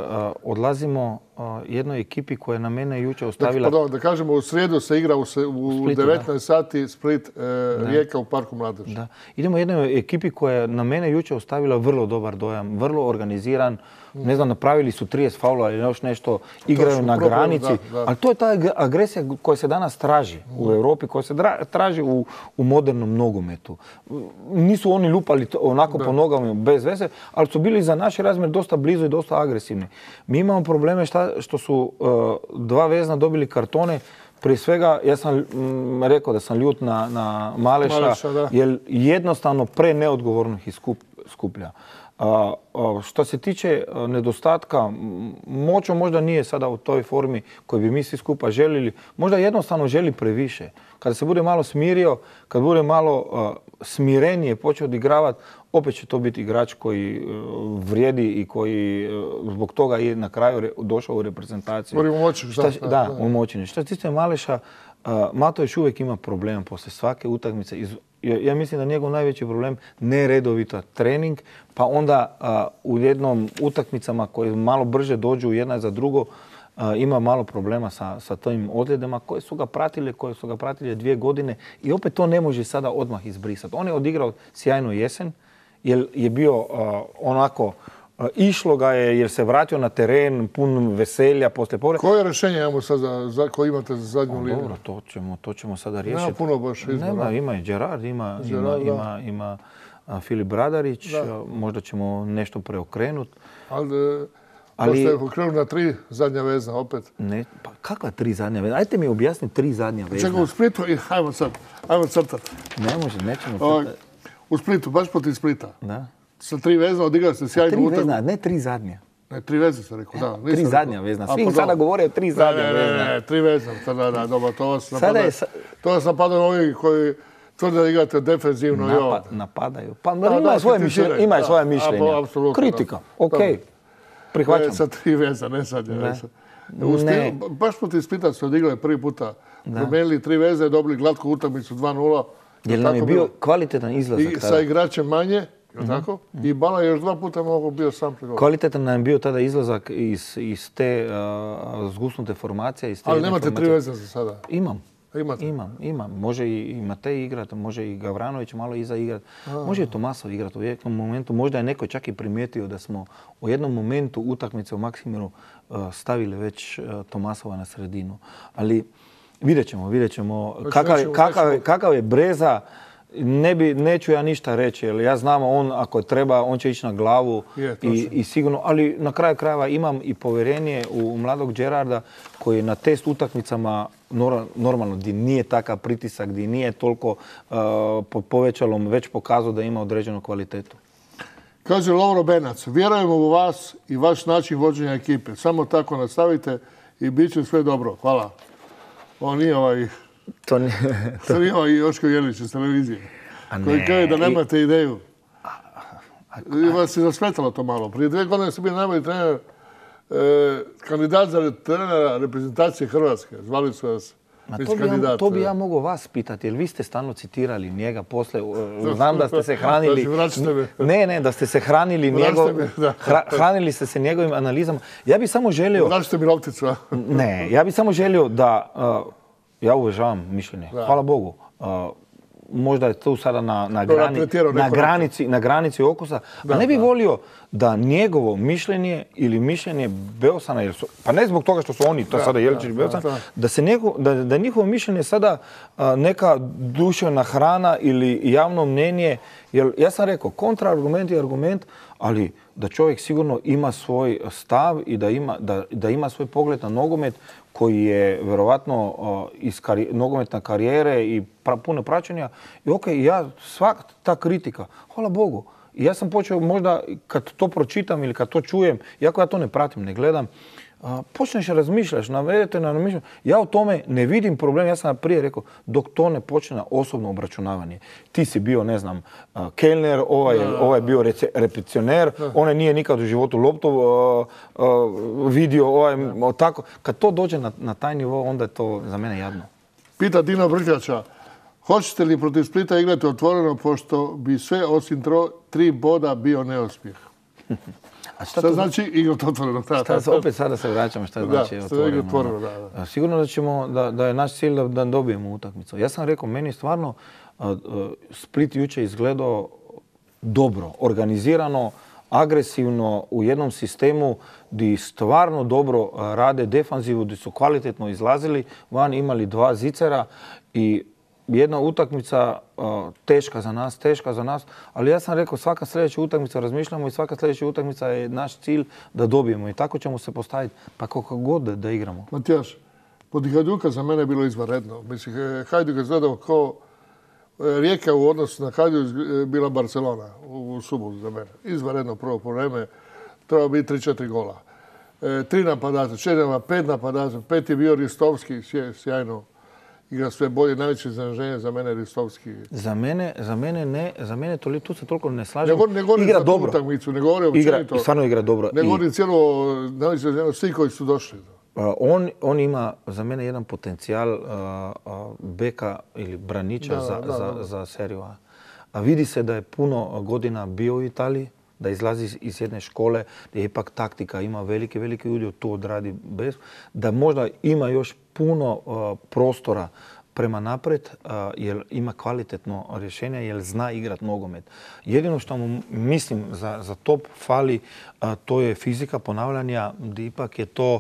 Speaker 14: odlazimo jednoj ekipi koja je na mene jučer ostavila...
Speaker 13: Da kažemo, u srijedu se igra u 19 sati Split Rijeka u Parku Mladeži.
Speaker 14: Da. Idemo jednoj ekipi koja je na mene jučer ostavila vrlo dobar dojam, vrlo organiziran. Ne znam, napravili su 30 faula ili još nešto, igraju na granici. Ali to je ta agresija koja se danas traži u Europi, koja se traži u modernom nogometu. Nisu oni lupali onako po nogama bez veze, ali su bili za naš razmjer dosta blizu i dosta agresivni. Mi imamo probleme što su dva vezna dobili kartone. Prije svega, ja sam rekao da sam ljut na Maleša, jer jednostavno neodgovorno ih skuplja. Što se tiče nedostatka, Moćo možda nije sada u toj formi koju bi mi svi skupa željeli. Možda jednostavno želi previše. Kada se bude malo smirio, kad bude malo smirenije počeo odigravati, opet će to biti igrač koji vrijedi i koji zbog toga je na kraju došao u reprezentaciju.
Speaker 13: Govorimo o Moćinu.
Speaker 14: Da, o Moćinu. Što se tiče Maleša, Mato još uvijek ima problem poslije svake utakmice. Ja mislim da njegov najveći problem neredovita trening, pa onda u jednom utakmicama koje malo brže dođu jedna za drugo, ima malo problema sa tim ozljedama koje su ga pratile 2 godine i opet to ne može sada odmah izbrisati. On je odigrao sjajnu jesen jer je bio onako, išlo ga je jer se vratio na teren pun veselja poslije povrede.
Speaker 13: Koje rješenje imamo sad koje imate za zadnju liniju?
Speaker 14: Dobro, to ćemo sada riješiti.
Speaker 13: Nema puno baš izbora.
Speaker 14: Ima i Gerard, ima Filip Bradarić, možda ćemo nešto preokrenuti.
Speaker 13: Ali ste okrenuli na 3 zadnja vezna opet.
Speaker 14: Ne, pa kakva 3 zadnja vezna? Ajte mi objasniti 3 zadnja vezna.
Speaker 13: Čekaj, u Splitu, ajmo crtati.
Speaker 14: Nećemo crtati.
Speaker 13: U Splitu, baš protiv Splita.
Speaker 14: Da.
Speaker 13: Sa 3 vezna odigrali ste sjajnu utakmicu.
Speaker 14: 3 vezna, ne 3 zadnja.
Speaker 13: Ne, 3 vezne sam rekao, da.
Speaker 14: 3 zadnja vezna. Svi sada govore o 3 zadnja vezna.
Speaker 13: Ne, 3 vezna. Da, dobro, to vas napadaju ovi koji tvrde da igrate defensivno i ovo.
Speaker 14: Napadaju. Pa ima svoje mišljenje. Kritika, okej. Prihvaćam.
Speaker 13: Sa 3 veza, ne sad. Baš protiv Splita su odigrali prvi puta. Promijenili 3 veze, dobili glatku utakmicu 2-0.
Speaker 14: Jer nam je bio kvalitetan izlazak tada.
Speaker 13: Sa igračem manje, tako? I Bala je još 2 puta mogo bio sam pri golu.
Speaker 14: Kvalitetan nam je bio tada izlazak iz te zgusnute formacije.
Speaker 13: Ali nemate 3 veze za sada?
Speaker 14: Imam. Može i Matej igrati, može i Gavranović malo iza igrati. Može i Tomasov igrati u jednom momentu. Možda je neko čak i primijetio da smo u jednom momentu utakmice u Maksimiru stavili već Tomasova na sredinu. Ali vidjet ćemo kakav je Breza. Neću ja ništa reći, jer ja znam on ako treba, on će ići na glavu i sigurno, ali na kraju krajeva imam i povjerenje u mladog Gerarda koji je na test utakmicama normalno gdje nije takav pritisak, gdje nije toliko pod povećalom već pokazao da ima određenu kvalitetu.
Speaker 13: Kaže Lovro Benac, vjerujemo u vas i vaš način vođenja ekipe. Samo tako nastavite i bit će sve dobro. Hvala. Ovo nije To nije ovaj Joško Jelić iz televizije, koji kaže da nemate ideju. Vas je zasmetalo to malo. Prije 2 godine ste bili najbolji trener, kandidat za trenera reprezentacije Hrvatske. Zvali su vas kandidat.
Speaker 14: To bi ja mogao vas pitati, jer vi ste stalno citirali njega posle. Znam da ste se hranili... Ne, da ste se hranili hranili ste se njegovim analizama. Ja bi samo želio...
Speaker 13: Vraćate mi lopticu.
Speaker 14: Ne, ja bi samo želio da... Ja uvažavam mišljenje. Hvala Bogu. Možda je tu sada na granici okusa. A ne bih volio da njegovo mišljenje ili mišljenje Beosana, pa ne zbog toga što su oni, to sada Jeličić i Beosan, da njihovo mišljenje sada neka duševna hrana ili javno mnenje. Jer ja sam rekao, kontraargument je argument, ali da čovjek sigurno ima svoj stav i da ima svoj pogled na nogomet koji je vjerovatno iz nogometne karijere i puno praćenja. I okej, ja svaka ta kritika, hvala Bogu. I ja sam počeo možda kad to pročitam ili kad to čujem, iako ja to ne pratim, ne gledam, počneš razmišljaš, navedete na razmišljanje. Ja u tome ne vidim problem, ja sam prije rekao, dok to ne počne na osobno obračunavanje. Ti si bio, ne znam, kelner, ovaj je bio repeticioner, onaj nije nikad u životu loptu vidio, tako. Kad to dođe na taj nivo, onda je to za mene jadno.
Speaker 13: Pita Dino Vrkljača, hoćete li protiv Splita igrati otvoreno, pošto bi sve osim 3 boda bio neuspjeh? Šta znači igrati otvoreno?
Speaker 14: Opet sada se vraćamo šta znači otvoreno. Sigurno da je naš cilj da dobijemo utakmicu. Ja sam rekao, meni stvarno Split jučer izgledao dobro, organizirano, agresivno, u jednom sistemu gdje stvarno dobro rade defanzivu, gdje su kvalitetno izlazili van, imali 2 zicera i jedna utakmica teška za nas, ali ja sam rekao svaka sljedeća utakmica razmišljamo i svaka sljedeća utakmica je naš cilj da dobijemo i tako ćemo se postaviti pa kako god da igramo.
Speaker 13: Matijaš, pod Hajduka za mene je bilo izvanredno. Mislim, Hajduk je izgledao kao Rijeka u odnosu na Hajduk bila Barcelona u subotu za mene. Izvanredno prvo po vreme, treba biti 3-4 gola. 3 napadača, 4, 5 napadača, 5 je bio Ristovski, sjajno. Igra sve bolje, najveće iznenađenje za mene Ristovski.
Speaker 14: Za mene ne, tu se toliko ne slažem.
Speaker 13: Ne govorim za tu utakmicu, ne govorim općenito.
Speaker 14: Stvarno igra dobro.
Speaker 13: Ne govorim cijelo, svi koji su došli.
Speaker 14: On ima za mene jedan potencijal beka ili braniča za seriju A. A vidi se da je puno godina bio u Italiji, da izlazi iz jedne škole, gdje ipak taktika ima veliki udio, to odradi bez, da možda ima još puno prostora prema naprijed, jer ima kvalitetno rješenje, jer zna igrat nogomet. Jedino što mu mislim za top fali, to je fizika ponavljanja, gdje ipak je to,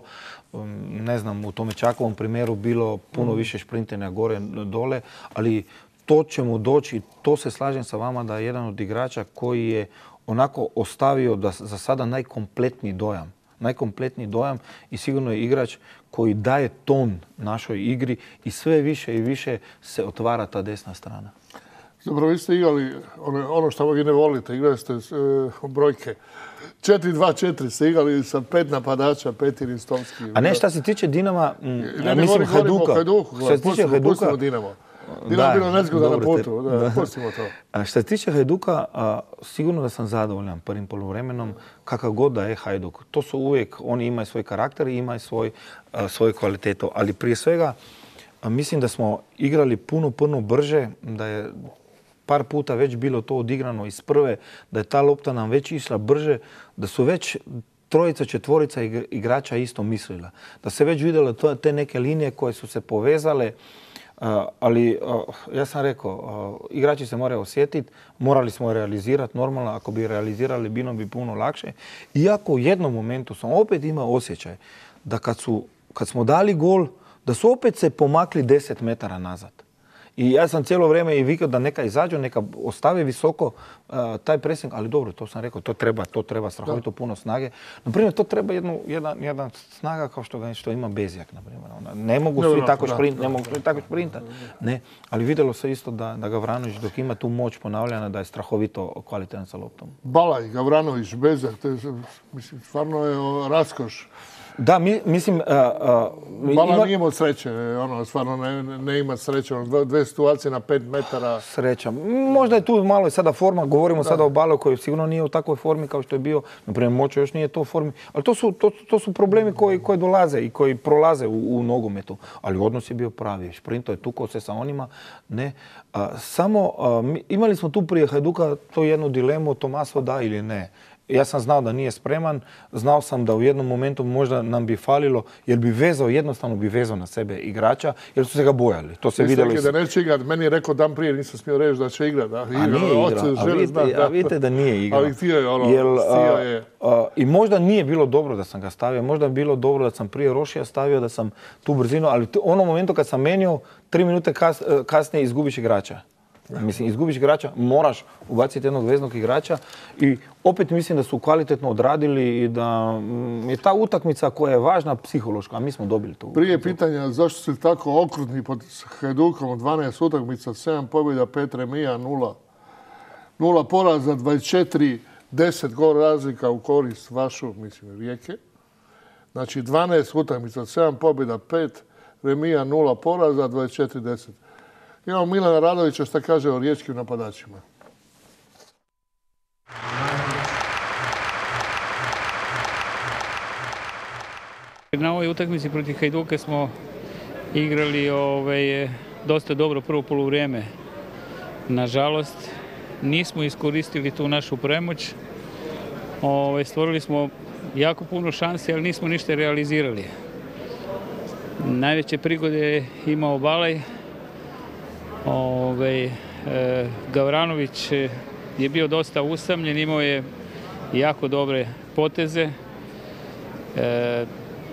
Speaker 14: ne znam, u tome Čakovom primjeru bilo puno više šprintenja gore dole, ali to će mu doći, to se slažem sa vama da je jedan od igrača koji je onako ostavio za sada najkompletniji dojam i sigurno je igrač koji daje ton našoj igri i sve više i više se otvara ta desna strana.
Speaker 13: Zapravo vi ste igrali ono što vi ne volite, igrali ste brojke. 4-2-4 ste igrali sa 5 napadača, 5 Ristovski.
Speaker 14: A ne, šta se tiče Dinama, mislim Hajduka.
Speaker 13: Što se tiče Hajduka, Dinamo je bilo nezgoda na putu, pustimo to.
Speaker 14: Što se tiče Hajduka, sigurno da sam zadovoljan prvim poluvremenom, kakav god da je Hajduk. To su uvijek, oni imaju svoj karakter i imaju svoju kvalitetu. Ali prije svega, mislim da smo igrali puno brže, da je par puta već bilo to odigrano iz prve, da je ta lopta nam već išla brže, da su već 3, 4 igrača isto mislila. Da se već vidjelo te neke linije koje su se povezale, ali ja sam rekao, igrači se moraju osjetiti, morali smo realizirati normalno, ako bi realizirali bilo bi puno lakše. Iako u jednom momentu sam opet imao osjećaj da kad smo dali gol, da su opet se pomakli 10 metara nazad. I ja sam cijelo vrijeme i vikao da neka izađu, neka ostave visoko taj pressing, ali dobro, to sam rekao, to treba strahovito puno snage. Naprimjer, to treba jedna snaga kao što ima Bezjak, naprimjer. Ne mogu svi tako šprintati. Ne, ali vidjelo se isto da Gavranović dok ima tu moć ponavljanja da je strahovito kvalitetan sa loptom.
Speaker 13: Balaj, Gavranović, Bezjak, mislim, stvarno je raskoš.
Speaker 14: Da, mislim...
Speaker 13: Bala nije imao sreće, stvarno ne ima sreće. 2 situacije na 5 metara.
Speaker 14: Sreća. Možda je tu malo i sada forma, govorimo sada o Balu koji sigurno nije u takvoj formi kao što je bio. Naprimjer, Moćo još nije to u formi. Ali to su problemi koji dolaze i koji prolaze u nogometu. Ali odnos je bio pravi. Šprinto je tukao se sa onima. Ne. Samo imali smo tu prije Hajduka to jednu dilemu, Tomaso da ili ne. Ja sam znao da nije spreman, znao sam da u jednom momentu možda nam bi falilo, jer bi jednostavno bi vezao na sebe igrača, jer su se ga bojali. To se vidjelo.
Speaker 13: Da neće igrat, meni je rekao dan prije, nisam smio reći da će igrat.
Speaker 14: A nije igrao, a vidite da nije igrao.
Speaker 13: Ali htio je
Speaker 14: I možda nije bilo dobro da sam ga stavio, možda je bilo dobro da sam prije Rošija stavio, da sam tu brzinu, ali u onom momentu kad sam menio, 3 minute kasnije izgubiš igrača. Mislim, izgubiš igrača, moraš ubaciti jednog veznog igrača i opet mislim da su kvalitetno odradili i da je ta utakmica koja je važna psihološka, a mi smo dobili to.
Speaker 13: Prije pitanja zašto su tako okrutni pod Hajdukom, 12 utakmica, 7 pobjeda, 5 remija, 0 poraza, 24, 10 gol razlika u korist vašu, mislim, Rijeke. Znači 12 utakmica, 7 pobjeda, 5 remija, 0 poraza, 24, 10. Imamo Milana Radovića što kaže o riječkim napadačima.
Speaker 15: Na ovoj utakmici protiv Hajduka smo igrali dosta dobro prvo poluvrijeme. Nažalost, nismo iskoristili tu našu premoć. Stvorili smo jako puno šansi, ali nismo ništa realizirali. Najveće prigode je imao Balaj. Gavranović je bio dosta usamljen, imao je jako dobre poteze.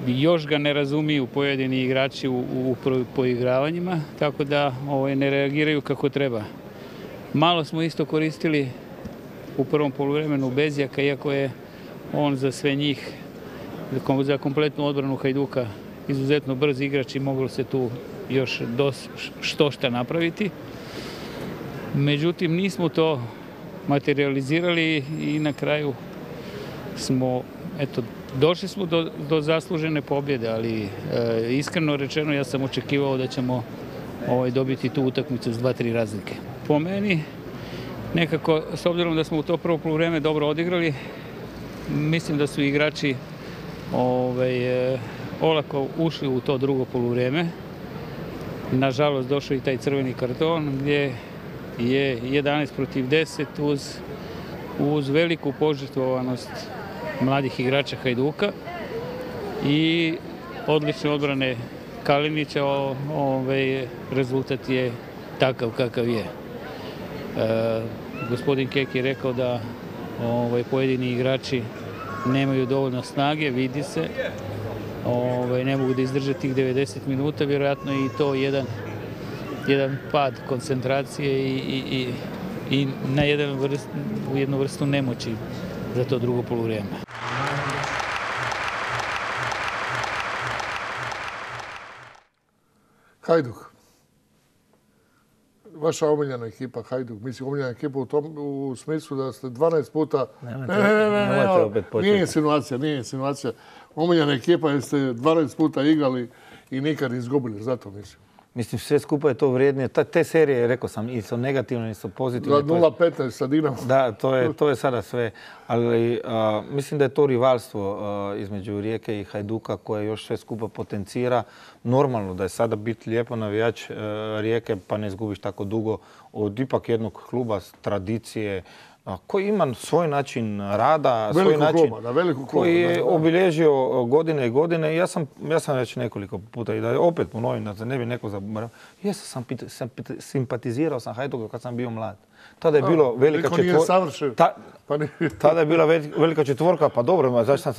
Speaker 15: Još ga ne razumiju pojedini igrači u poigravanjima, tako da ne reagiraju kako treba. Malo smo isto koristili u prvom poluvremenu Bezjaka, iako je on za sve njih, za kompletnu odbranu Hajduka, izuzetno brz igrač i moglo se tu još što napraviti. Međutim, nismo to materializirali i na kraju smo, došli smo do zaslužene pobjede, ali iskreno rečeno ja sam očekivao da ćemo dobiti tu utakmicu s 2-3 razlike. Po meni, nekako, s obzirom da smo u to prvo poluvreme dobro odigrali, mislim da su igrači olako ušli u to drugo poluvrijeme. Nažalost, došao i taj crveni karton gdje je 11 protiv 10 uz veliku požrtvovanost mladih igrača Hajduka i odlične odbrane Kalinića. Rezultat je takav kakav je. Gospodin Kek je rekao da pojedini igrači nemaju dovoljno snage, vidi se. Ne mogu da izdrže tih 90 minuta, vjerojatno je i to jedan pad koncentracije i na jednu vrstu nemoći za to drugo poluvrijeme.
Speaker 13: Hajduk. Vaša omiljena ekipa Hajduk, mislim omiljena ekipa u smislu da ste 12 puta... Nije insinuacija. Omiljena ekipa jer ste 12 puta igrali i nikad izgubili, zato mislim.
Speaker 14: Mislim, sve skupa je to vrijednije. Te serije, rekao sam, i su negativne, i su pozitivne.
Speaker 13: 0-15 sa Dinamo.
Speaker 14: Da, to je sada sve. Ali mislim da je to rivalstvo između Rijeke i Hajduka koje još sve skupa potencira. Normalno da je sada biti lijepo navijač Rijeke pa ne izgubiš tako dugo od ipak jednog kluba tradicije, koji ima svoj način rada, svoj način koji je obilježio godine i godine. Ja sam već nekoliko puta i da opet ponovim da se ne bi neko zaboravio. Ja sam simpatizirao sam Hajduku kad sam bio mlad. Tada je bilo velika četvorka. Tada je bila velika četvorka, pa dobro, zašto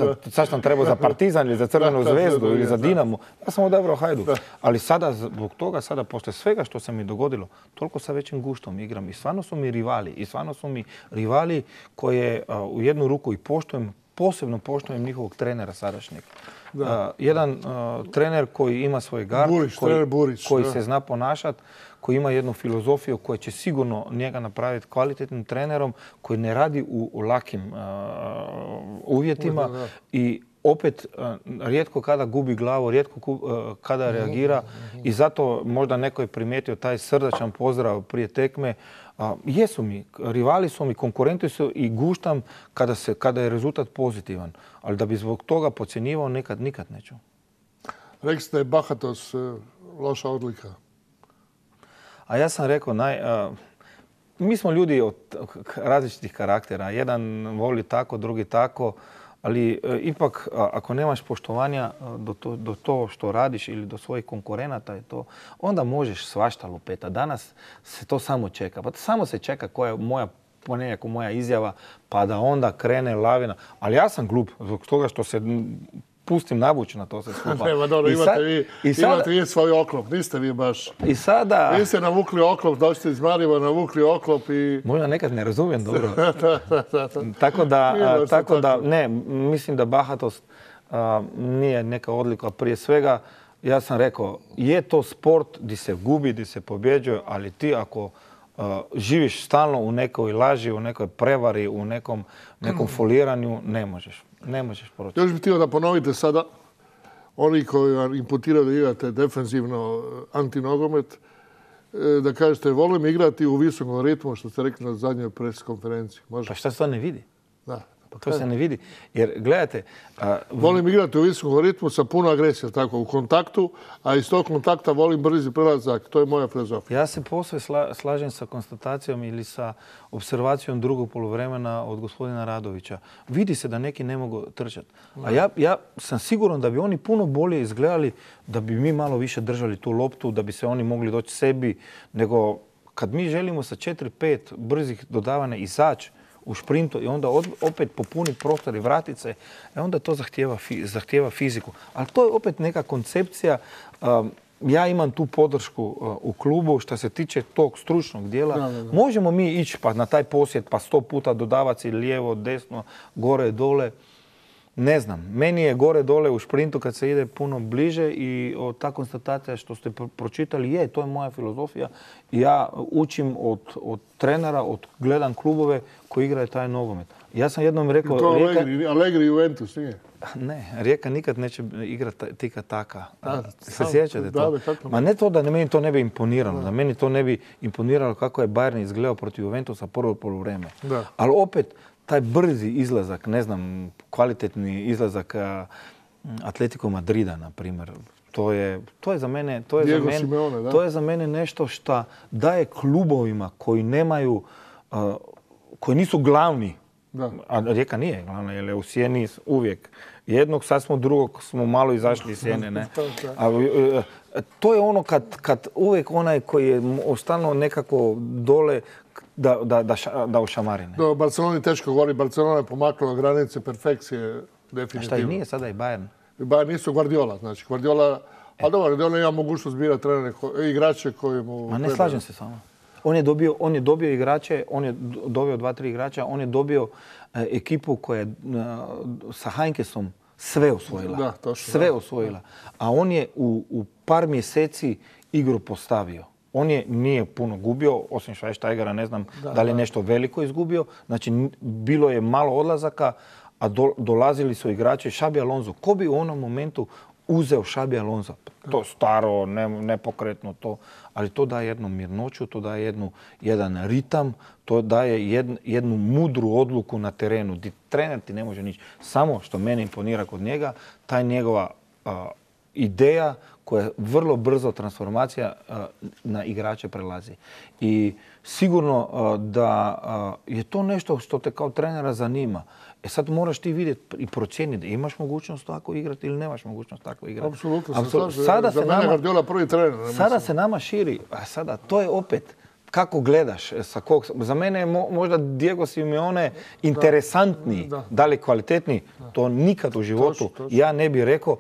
Speaker 14: sam trebao za Partizan ili za Crvenu zvezdu ili za Dinamo. Ja sam odabrao Hajduk. Ali sada, zbog toga, sada posle svega što se mi dogodilo, toliko sa većim guštom igram i stvarno su mi rivali. I stvarno su mi rivali koje u jednu ruku i poštujem, posebno poštujem njihovog trenera sadašnjeg. Jedan trener koji ima svoj gard, koji se zna ponašati, koji ima jednu filozofiju koja će sigurno njega napraviti kvalitetnim trenerom, koji ne radi u lakim uvjetima i opet rijetko kada gubi glavu, rijetko kada reagira i zato možda neko je primijetio taj srdačan pozdrav prije tekme. Jesu mi, rivali su mi, konkurenti su i guštam kada je rezultat pozitivan. Ali da bi zbog toga podcjenjivao nikad neću.
Speaker 13: Rekli ste bahatost loša odlika.
Speaker 14: A ja sam rekao, mi smo ljudi od različitih karaktera. Jedan voli tako, drugi tako. Ali ipak, ako nemaš poštovanja do to što radiš ili do svojih konkurenata, onda možeš svašta lupeta. Danas se to samo čeka. Pa samo se čeka koja je moja izjava, pa da onda krene lavina. Ali ja sam glup zbog toga što se pustim navući na to sve skupa.
Speaker 13: Nema, dobro, imate vi svoj oklop, niste vi baš.
Speaker 14: I sada...
Speaker 13: Vi ste navukli oklop, dođete iz Maribora, navukli oklop i...
Speaker 14: Možda nekad ne razumijem dobro. Tako da, ne, mislim da bahatost nije neka odlika. Prije svega, ja sam rekao, je to sport gdje se gubi, gdje se pobjeđuje, ali ti ako živiš stalno u nekoj laži, u nekoj prevari, u nekom foliranju, ne možeš proći.
Speaker 13: Još bih htio da ponovite sada, oni koji vam imputiraju da igrate defensivno antinogomet, da kažete, volim igrati u visokom ritmu, što ste rekli na zadnjoj pres konferenciji. Može?
Speaker 14: Pa šta se to ne vidi?
Speaker 13: Da.
Speaker 14: To se ne vidi. Jer, gledajte...
Speaker 13: Volim igrati u visokom ritmu sa puno agresije, tako, u kontaktu, a iz tog kontakta volim brzi prelazak. To je moja filozofija.
Speaker 14: Ja se posve slažem sa konstatacijom ili sa observacijom drugog poluvremena od gospodina Radovića. Vidi se da neki ne mogu trčati. A ja sam siguran da bi oni puno bolje izgledali, da bi mi malo više držali tu loptu, da bi se oni mogli doći sebi, nego kad mi želimo sa 4-5 brzih dodavanja izaći u šprintu i onda opet popuniti prostor i vratit se, onda to zahtijeva fiziku. Ali to je opet neka koncepcija. Ja imam tu podršku u klubu što se tiče tog stručnog dijela. Možemo mi ići pa na taj posjet pa 100 puta dodavati lijevo, desno, gore, dole. Ne znam. Meni je gore, dole u šprintu kad se ide puno bliže i ta konstatacija što ste pročitali, to je moja filozofija. Ja učim od trenera, gledam klubove koji igraju taj nogomet. Ja sam jednom rekao...
Speaker 13: To Allegri Juventus nije?
Speaker 14: Ne, Rijeka nikad neće igrati tika taka. Se sjećate to? Ma ne to da meni to ne bi imponiralo. Da meni to ne bi imponiralo kako je Bayern izgledao protiv Juventusa prvo poluvreme. Ali opet, taj brzi izlazak, ne znam, kvalitetni izlazak Atletico Madrida, na primjer, to je za mene nešto što daje klubovima koji nemaju, koji nisu glavni, a Rijeka nije glavna, jer je u sjeni uvijek jednog, sad smo drugog, smo malo izašli iz sjene, ne? To je ono kad uvijek onaj koji je stalno nekako dole, da ušamari.
Speaker 13: Do Barceloni teško govori. Barcelona je pomakla granice perfekcije definitivno.
Speaker 14: A šta i nije sada i Bayern?
Speaker 13: Bayern nisu Guardiola. Znači Guardiola, ali dobro, Guardiola ima mogućnost birati trenere, igrače koji mu...
Speaker 14: Ma ne slažem se s vama. On je dobio igrače, on je dobio 2-3 igrača, on je dobio ekipu koja je sa Heinkesom sve osvojila. Sve osvojila. A on je u par mjeseci igru postavio. On nije puno gubio, osim Schweinsteigera, ne znam da li je nešto veliko izgubio. Znači, bilo je malo odlazaka, a dolazili su igrači Xabi Alonso. Ko bi u onom momentu uzeo Xabi Alonso? To staro, nepokretno to, ali to daje jednu mirnoću, to daje jedan ritam, to daje jednu mudru odluku na terenu. Trener ti ne može nići. Samo što mene imponira kod njega, taj njegova ideja koja vrlo brzo transformacija na igrače prelazi. I sigurno da je to nešto što te kao trenera zanima. Sad moraš ti vidjeti i procijeniti imaš mogućnost tako igrati ili nemaš mogućnost tako igrati.
Speaker 13: Apsolutno se slažem. Za mene Guardiola prvi trener.
Speaker 14: Sada se nama širi. A sada to je opet kako gledaš, za mene je možda Diego Simeone interesantniji, da li kvalitetniji, to nikad u životu ja ne bih rekao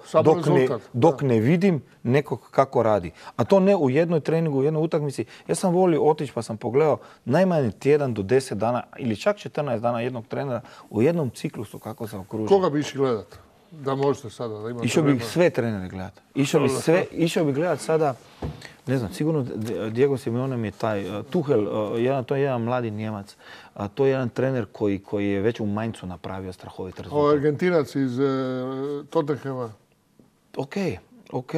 Speaker 14: dok ne vidim nekog kako radi. A to ne u jednoj treningu, u jednoj utakmici. Ja sam volio otići pa sam pogledao najmanje tjedan do 10 dana ili čak 14 dana jednog trenera u jednom ciklusu kako se okružuje.
Speaker 13: Koga bi išli gledati? Da možete sada da imate...
Speaker 14: Išao bih sve trenere gledati. Išao bih gledati sada, ne znam, sigurno Diego Simeone mi je taj Tuchel, to je jedan mladi Njemac, to je jedan trener koji je već u Mainzu napravio strahovit rezultat.
Speaker 13: Ovo Argentinac iz Tottenhama.
Speaker 14: Ok.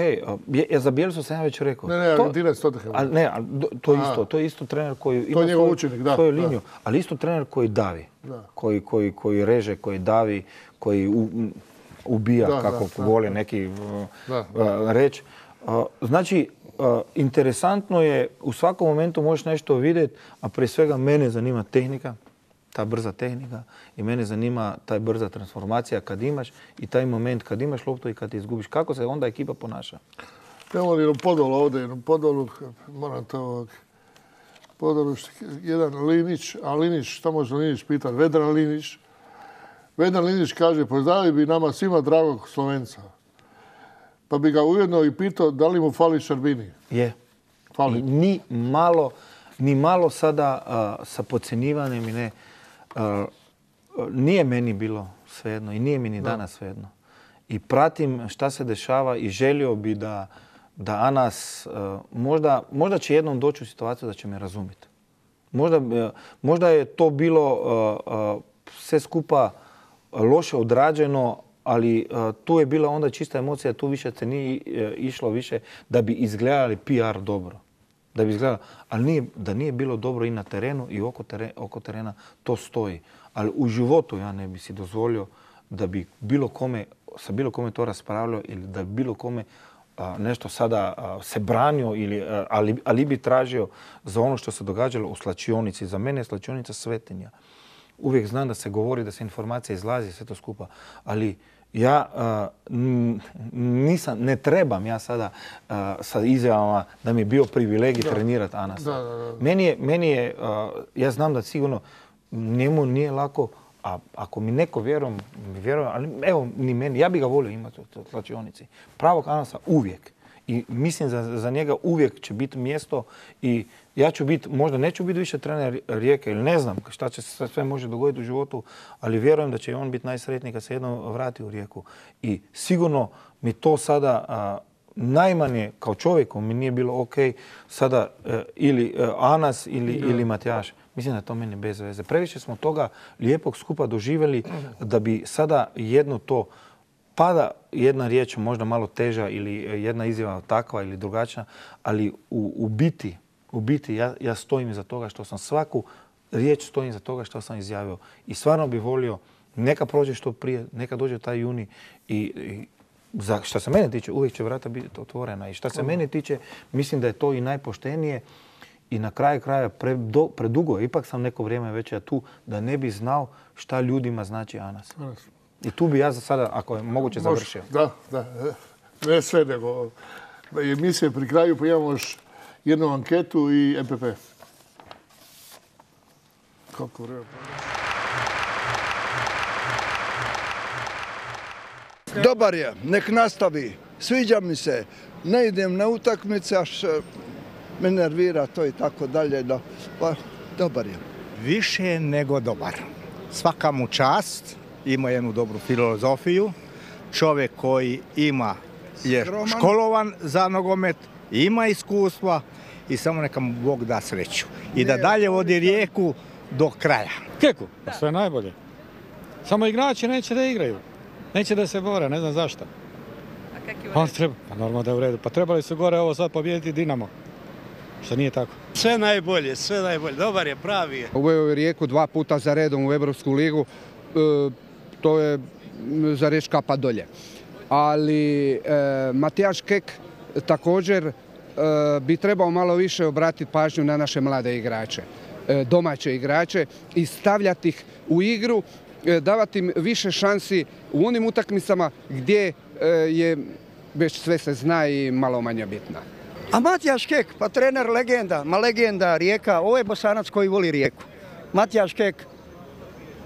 Speaker 14: Za Bielsu sam ja već rekao.
Speaker 13: Ne, Argentinac Tottenhama.
Speaker 14: Ne, to je isto trener koji ima svoju liniju, ali isto trener koji davi, koji reže, koji davi, koji ubija, kako vole neki reći. Znači, interesantno je, u svakom momentu možeš nešto vidjeti, a prije svega mene zanima tehnika, ta brza tehnika i mene zanima ta brza transformacija kad imaš i taj moment kad imaš loptu i kad ti izgubiš. Kako se onda ekipa ponaša?
Speaker 13: Imamo jednu podolu ovdje, moram to podolu, jedan Linić, a Linić, šta može Linić pitati? Vedran Linić, Vedran Lindić kaže, pozdravili bi nama svima dragog Slovenca. Pa bi ga ujedno i pitao da li mu fali Šarbini.
Speaker 14: Je.
Speaker 13: Fali.
Speaker 14: I ni malo sada sa podcjenjivanjem i ne. Nije meni bilo svejedno i nije mi ni danas svejedno. I pratim šta se dešava i želio bi da Anas, možda će jednom doći u situaciju da će me razumjeti. Možda je to bilo sve skupa loše odrađeno, ali tu je bila onda čista emocija, tu više se nije išlo više da bi izgledali PR dobro. Da bi izgledali, ali da nije bilo dobro i na terenu i oko terena, to stoji. Ali u životu ja ne bi si dozvolio da bi sa bilo kome to raspravljao ili da bi bilo kome nešto sada se branio ali bi tražio za ono što se događalo u slačionici. Za mene je slačionica svetinja. Uvijek znam da se govori, da se informacija izlazi, sve to skupa, ali ja ne trebam ja sada sa izjavama da mi je bio privilegij trenirati Anasa. Meni je, ja znam da sigurno njemu nije lako, a ako mi neko vjeruje, ali evo ni meni, ja bi ga volio imati u slačionici. Pravog Anasa uvijek. I mislim za njega uvijek će biti mjesto i ja ću biti, možda neću biti više trener Rijeke ili ne znam šta će se sve može dogoditi u životu, ali vjerujem da će on biti najsretniji kad se jednom vrati u Rijeku. I sigurno mi to sada najmanje kao čovjeku mi nije bilo ok sada ili Anas ili Matijaš. Mislim da je to meni bez veze. Previše smo toga lijepog skupa doživjeli da bi sada jedno to pada jedna riječ možda malo teža ili jedna izjava takva ili drugačija, ali u biti ja stojim iza toga što sam svaku riječ stojim iza toga što sam izjavio. I stvarno bih volio, neka prođe što prije, neka dođe taj juni i što se mene tiče, uvijek će vrata biti otvorena. I što se mene tiče, mislim da je to i najpoštenije. I na kraju kraja predugo, ipak sam neko vrijeme već ja tu, da ne bi znao šta ljudima znači Anas. I tu bi ja za sada, ako je moguće, završio.
Speaker 13: Da. Ne sve, nego emisije pri kraju, pa imamo još jednu anketu i MPP. Kako vreme.
Speaker 16: Dobar je, nek nastavi. Sviđa mi se. Ne idem na utakmice, až me nervira to i tako dalje. Pa, dobar je.
Speaker 17: Više nego dobar. Svaka mu čast. Ima jednu dobru filozofiju. Čovjek koji je školovan za nogomet, ima iskustva i samo neka mu Bog da sreću. I da dalje vodi Rijeku do kraja.
Speaker 18: Keku, pa sve najbolje. Samo igrači neće da igraju. Neće da se bore, ne znam zašto.
Speaker 11: A kak je u redu?
Speaker 18: Pa normalno da je u redu. Pa trebali su gore ovo sad pobijediti Dinamo. Što nije tako.
Speaker 19: Sve najbolje. Dobar je, pravi je.
Speaker 20: Uveo je Rijeku 2 puta za redom u Europsku ligu. To je za reći kapa dolje. Ali Matijaš Kek također bi trebao malo više obratiti pažnju na naše mlade igrače, domaće igrače i stavljati ih u igru, davati im više šansi u onim utakmicama gdje je već sve se zna i malo manje bitna.
Speaker 21: A Matijaš Kek, pa trener legenda Rijeka, ovo je Bosanac koji voli Rijeku. Matijaš Kek,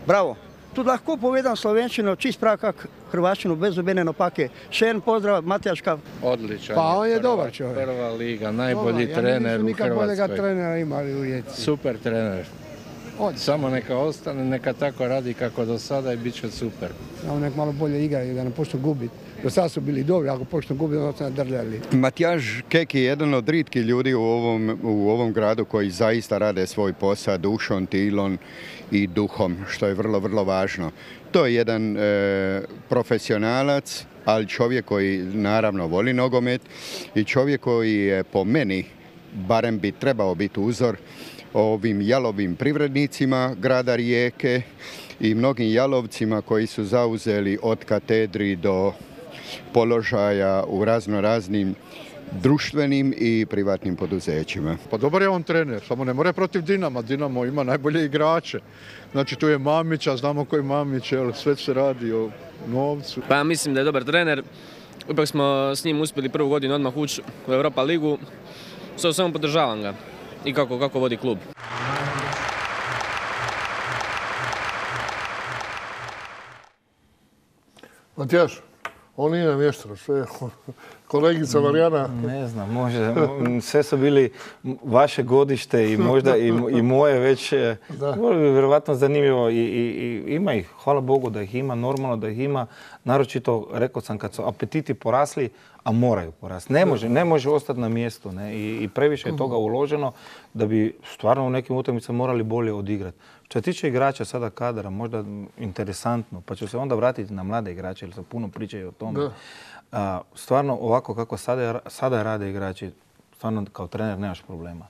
Speaker 21: bravo. Tu lahko povedam slovenščino, čist prav kak hrvaščino, bez obene napake. Še en pozdrav, Matijaška.
Speaker 22: Odličan.
Speaker 20: Pa on je dobar čovjek.
Speaker 22: Prva liga, najbolji trener u Hrvatskoj.
Speaker 20: Ja nisam nikad trenera imali u Rijeci.
Speaker 22: Super trener. Samo neka ostane, neka tako radi kako do sada i bit će super.
Speaker 20: Samo nek malo bolje igraju, da ne počnu gubiti. Do sada su bili dobri, ako počnu gubiti, onda su nadrljali.
Speaker 23: Matijaš Kek je jedan od rijetkih ljudi u ovom gradu koji zaista rade svoj posao dušom, tilom i duhom, što je vrlo, vrlo važno. To je jedan profesionalac, ali čovjek koji naravno voli nogomet i čovjek koji je po meni, barem bi trebao biti uzor ovim jalovim privrednicima grada Rijeke i mnogim jalovcima koji su zauzeli od katedri do položaja u raznim društvenim i privatnim poduzećima.
Speaker 24: Pa dobar je on trener, samo ne more protiv Dinama. Dinamo ima najbolje igrače. Znači tu je Mamića, znamo koji je Mamić, sve se radi o novcu.
Speaker 25: Pa ja mislim da je dobar trener. Ipak smo s njim uspjeli prvu godinu odmah ući u Europa ligu. Samo podržavam ga i kako vodi klub.
Speaker 13: Matijaš, on nije namješteno, sve kolegica Marijana.
Speaker 14: Ne znam, može. Sve su bili vaše godište i možda i moje već. Vjerovatno zanimljivo. I ima ih, hvala Bogu da ih ima, normalno da ih ima. Naročito, rekao sam, kad su apetiti porasli, a moraju porasti. Ne može ostati na mjestu. I previše je toga uloženo da bi stvarno u nekim utakmicama morali bolje odigrati. Što se tiče igrača sada kadra, možda interesantno, pa ću se onda vratiti na mlade igrače, jer se puno pričaju o tome. Stvarno, ovako kako sada rade igrači, stvarno kao trener nemaš problema.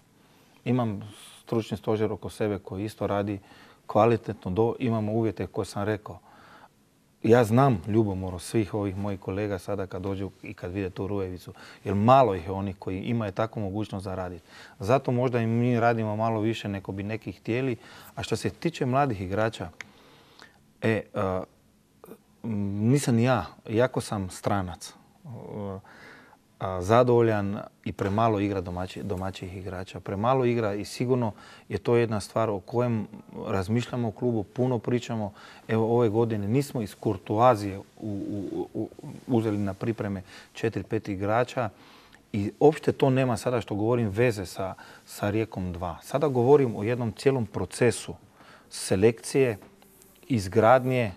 Speaker 14: Imam stručni stožer oko sebe koji isto radi kvalitetno, imamo uvjete koje sam rekao. Ja znam ljubomoru svih ovih mojih kolega sada kad dođu i kad vide tu Rujevicu, jer malo ih je onih koji imaju takvu mogućnost za raditi. Zato možda i mi radimo malo više nego bi neki htjeli. A što se tiče mladih igrača, nisam ja, iako sam stranac, zadovoljan i premalo igra domaćih igrača. Premalo igra i sigurno je to jedna stvar o kojem razmišljamo u klubu, puno pričamo. Evo ove godine nismo iz kurtoazije uzeli na pripreme 4-5 igrača i uopšte to nema sada što govorim veze sa Rijekom 2. Sada govorim o jednom cijelom procesu selekcije, izgradnje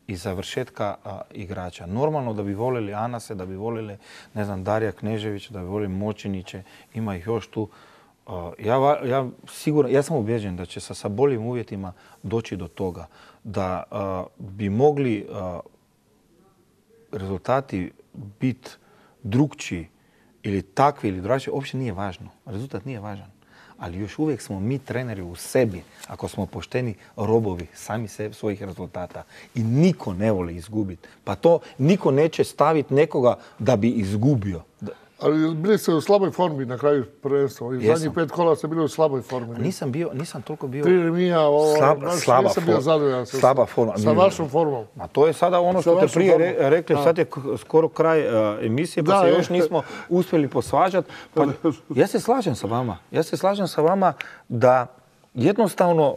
Speaker 14: i završetka igrača. Normalno da bi voljeli Anase, da bi voljeli, ne znam, Darija Kneževića, da bi voljeli Močiniće, ima ih još tu. Ja sam ubjeđen da će sa boljim uvjetima doći do toga da bi mogli rezultati biti drukčiji ili takvi ili drugačiji, uopće nije važno. Rezultat nije važan. Ali još uvijek smo mi treneri u sebi, ako smo pošteni, robovi sami svojih rezultata. I niko ne voli izgubiti. Pa to niko neće staviti nekoga da bi izgubio.
Speaker 13: Ali bili ste u slaboj formi na kraju prvenstva. Zadnjih 5 kola ste bili u slaboj formi.
Speaker 14: Nisam toliko bio...
Speaker 13: 3 remija, nisam bio zadovoljan
Speaker 14: slaba forma.
Speaker 13: Sa vašom formom.
Speaker 14: A to je sada ono što te prije rekli, sad je skoro kraj emisije, pa se još nismo uspjeli posvađati. Ja se slažem sa vama da jednostavno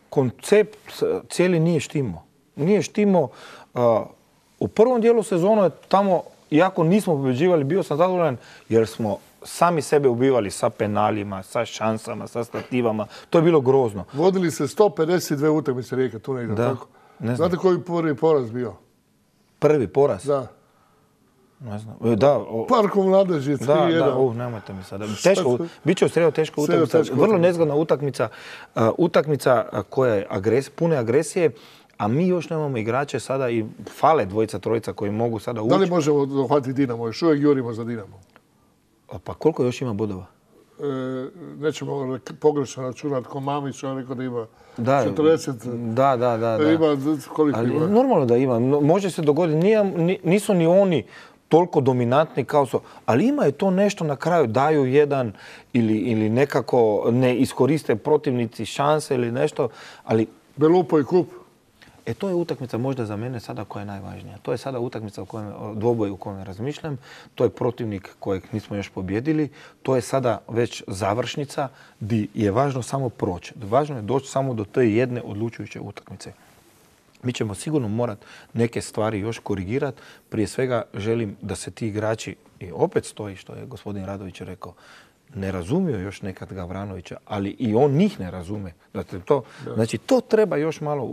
Speaker 14: koncept cijeli nije štimo. Nije štimo. U prvom dijelu sezonu je tamo, iako nismo pobjeđivali, bio sam zadovoljan jer smo sami sebe ubivali sa penalima, sa šansama, sa stativama. To je bilo grozno.
Speaker 13: Vodili se 152 utakmice Rijeke, tu negdje, tako? Znate koji prvi poraz bio?
Speaker 14: Prvi poraz?
Speaker 13: Da.
Speaker 14: Ne znam.
Speaker 13: Parkom Mladeži, 3-1.
Speaker 14: Nemojte mi sada. Biće u sredu teška utakmica. Vrlo nezgodna utakmica. Utakmica koja je pune agresije. A mi još nemamo igrače sada i fale dvojica, trojica koji mogu sada ući.
Speaker 13: Da li možemo dohvatiti Dinamo? Još uvijek jurimo za Dinamo.
Speaker 14: Pa koliko još ima bodova?
Speaker 13: Nećemo pogrešno računati. Ko Mamić, on rekao da ima 40.
Speaker 14: Da.
Speaker 13: Ima koliko ima?
Speaker 14: Normalno da ima. Može se dogoditi. Nisu ni oni toliko dominantni kao su. Ali ima je to nešto na kraju. Daju jedan ili nekako ne iskoriste protivnici šanse ili nešto.
Speaker 13: Belupo i kup.
Speaker 14: To je utakmica možda za mene sada koja je najvažnija. To je sada utakmica dvoboj u kojem razmišljam. To je protivnik kojeg nismo još pobjedili. To je sada već završnica gdje je važno samo proći. Važno je doći samo do te jedne odlučujuće utakmice. Mi ćemo sigurno morati neke stvari još korigirati. Prije svega želim da se ti igrači, i opet stoji što je gospodin Radović rekao, ne razumiju još nekad Gavranovića, ali i on njih ne razume. Znači, to treba još malo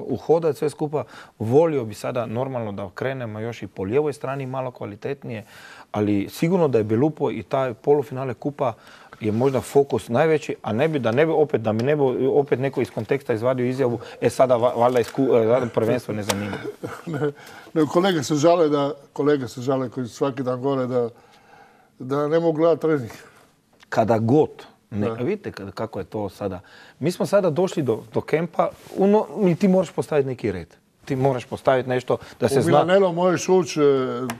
Speaker 14: uhodati sve skupa. Volio bi sada normalno da krenemo još i po lijevoj strani malo kvalitetnije, ali sigurno da je Belupo i taj polufinale kupa je možda fokus najveći, a da mi ne bi opet neko iz konteksta izvadio izjavu, sada valjda prvenstvo ne zanima.
Speaker 13: Kolege se žale koji su svaki dan gore da ne mogu gledati trening.
Speaker 14: Kada god. Vidite kako je to sada. Mi smo sada došli do kempa i ti moraš postaviti neki red. Ti moraš postaviti nešto da se zna...
Speaker 13: U Milanelo možeš ući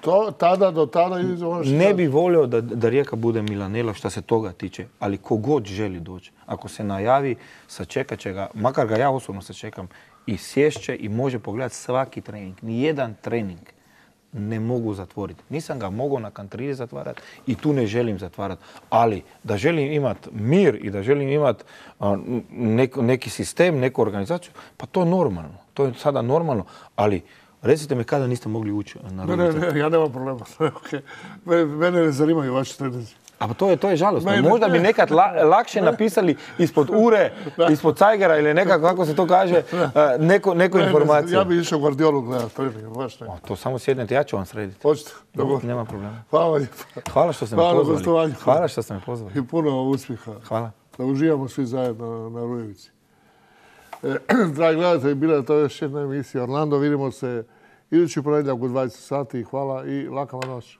Speaker 13: do tada i...
Speaker 14: Ne bi volio da Rijeka bude Milanelo što se toga tiče, ali kogod želi doći. Ako se najavi, sačekat će ga, makar ga ja osobno sačekam, i sješće i može pogledati svaki trening. Nijedan trening ne mogu zatvoriti. Nisam ga mogao na Kantridi zatvarati i tu ne želim zatvarati. Ali da želim imati mir i da želim imati neki sistem, neku organizaciju, pa to je normalno. To je sada normalno. Ali Recite mi kada niste mogli ući na rudice.
Speaker 13: Ne, ja nemam problema. Okay. Mene ne zanimaju vaši treninzi.
Speaker 14: A to je žalostno. Možda bi nekad lakše napisali ispod ure, ispod cajgera ili nekako, kako se to kaže, neku informaciju.
Speaker 13: Ja bi išao Guardiolu gledati trening, baš ne.
Speaker 14: To samo sjednete, ja ću vam srediti.
Speaker 13: Hoćete? Dobro.
Speaker 14: Nema problema.
Speaker 13: Hvala lijepo.
Speaker 14: Hvala što ste me pozvali. Hvala što ste me pozvali.
Speaker 13: I puno uspjeha.
Speaker 14: Hvala.
Speaker 13: Da uživamo svi zajedno na Rujevici. Dragi gledatelji, bila je to još jedna emisija Orlando. Vidimo se idući ponedjeljak u 20 sati. Hvala i laka vam noć.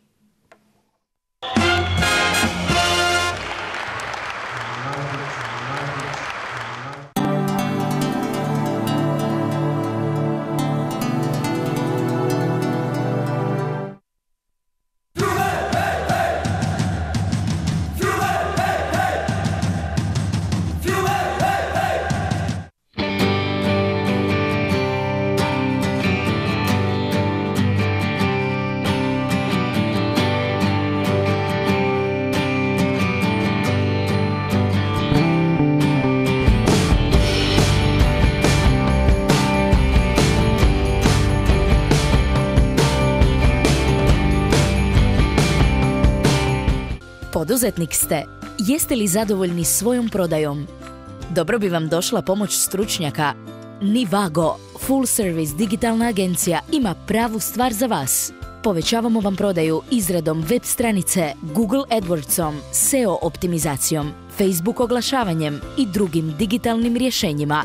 Speaker 1: Poduzetnik ste. Jeste li zadovoljni svojom prodajom? Dobro bi vam došla pomoć stručnjaka. Nivago, full service digitalna agencija, ima pravu stvar za vas. Povećavamo vam prodaju izradom web stranice, Google AdWordsom, SEO optimizacijom, Facebook oglašavanjem i drugim digitalnim rješenjima.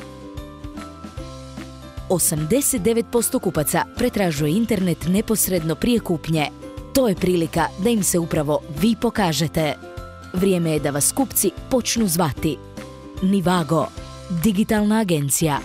Speaker 1: 89% kupaca pretražuje internet neposredno prije kupnje. To je prilika da im se upravo vi pokažete. Vrijeme je da vas kupci počnu zvati. Nivago, digitalna agencija.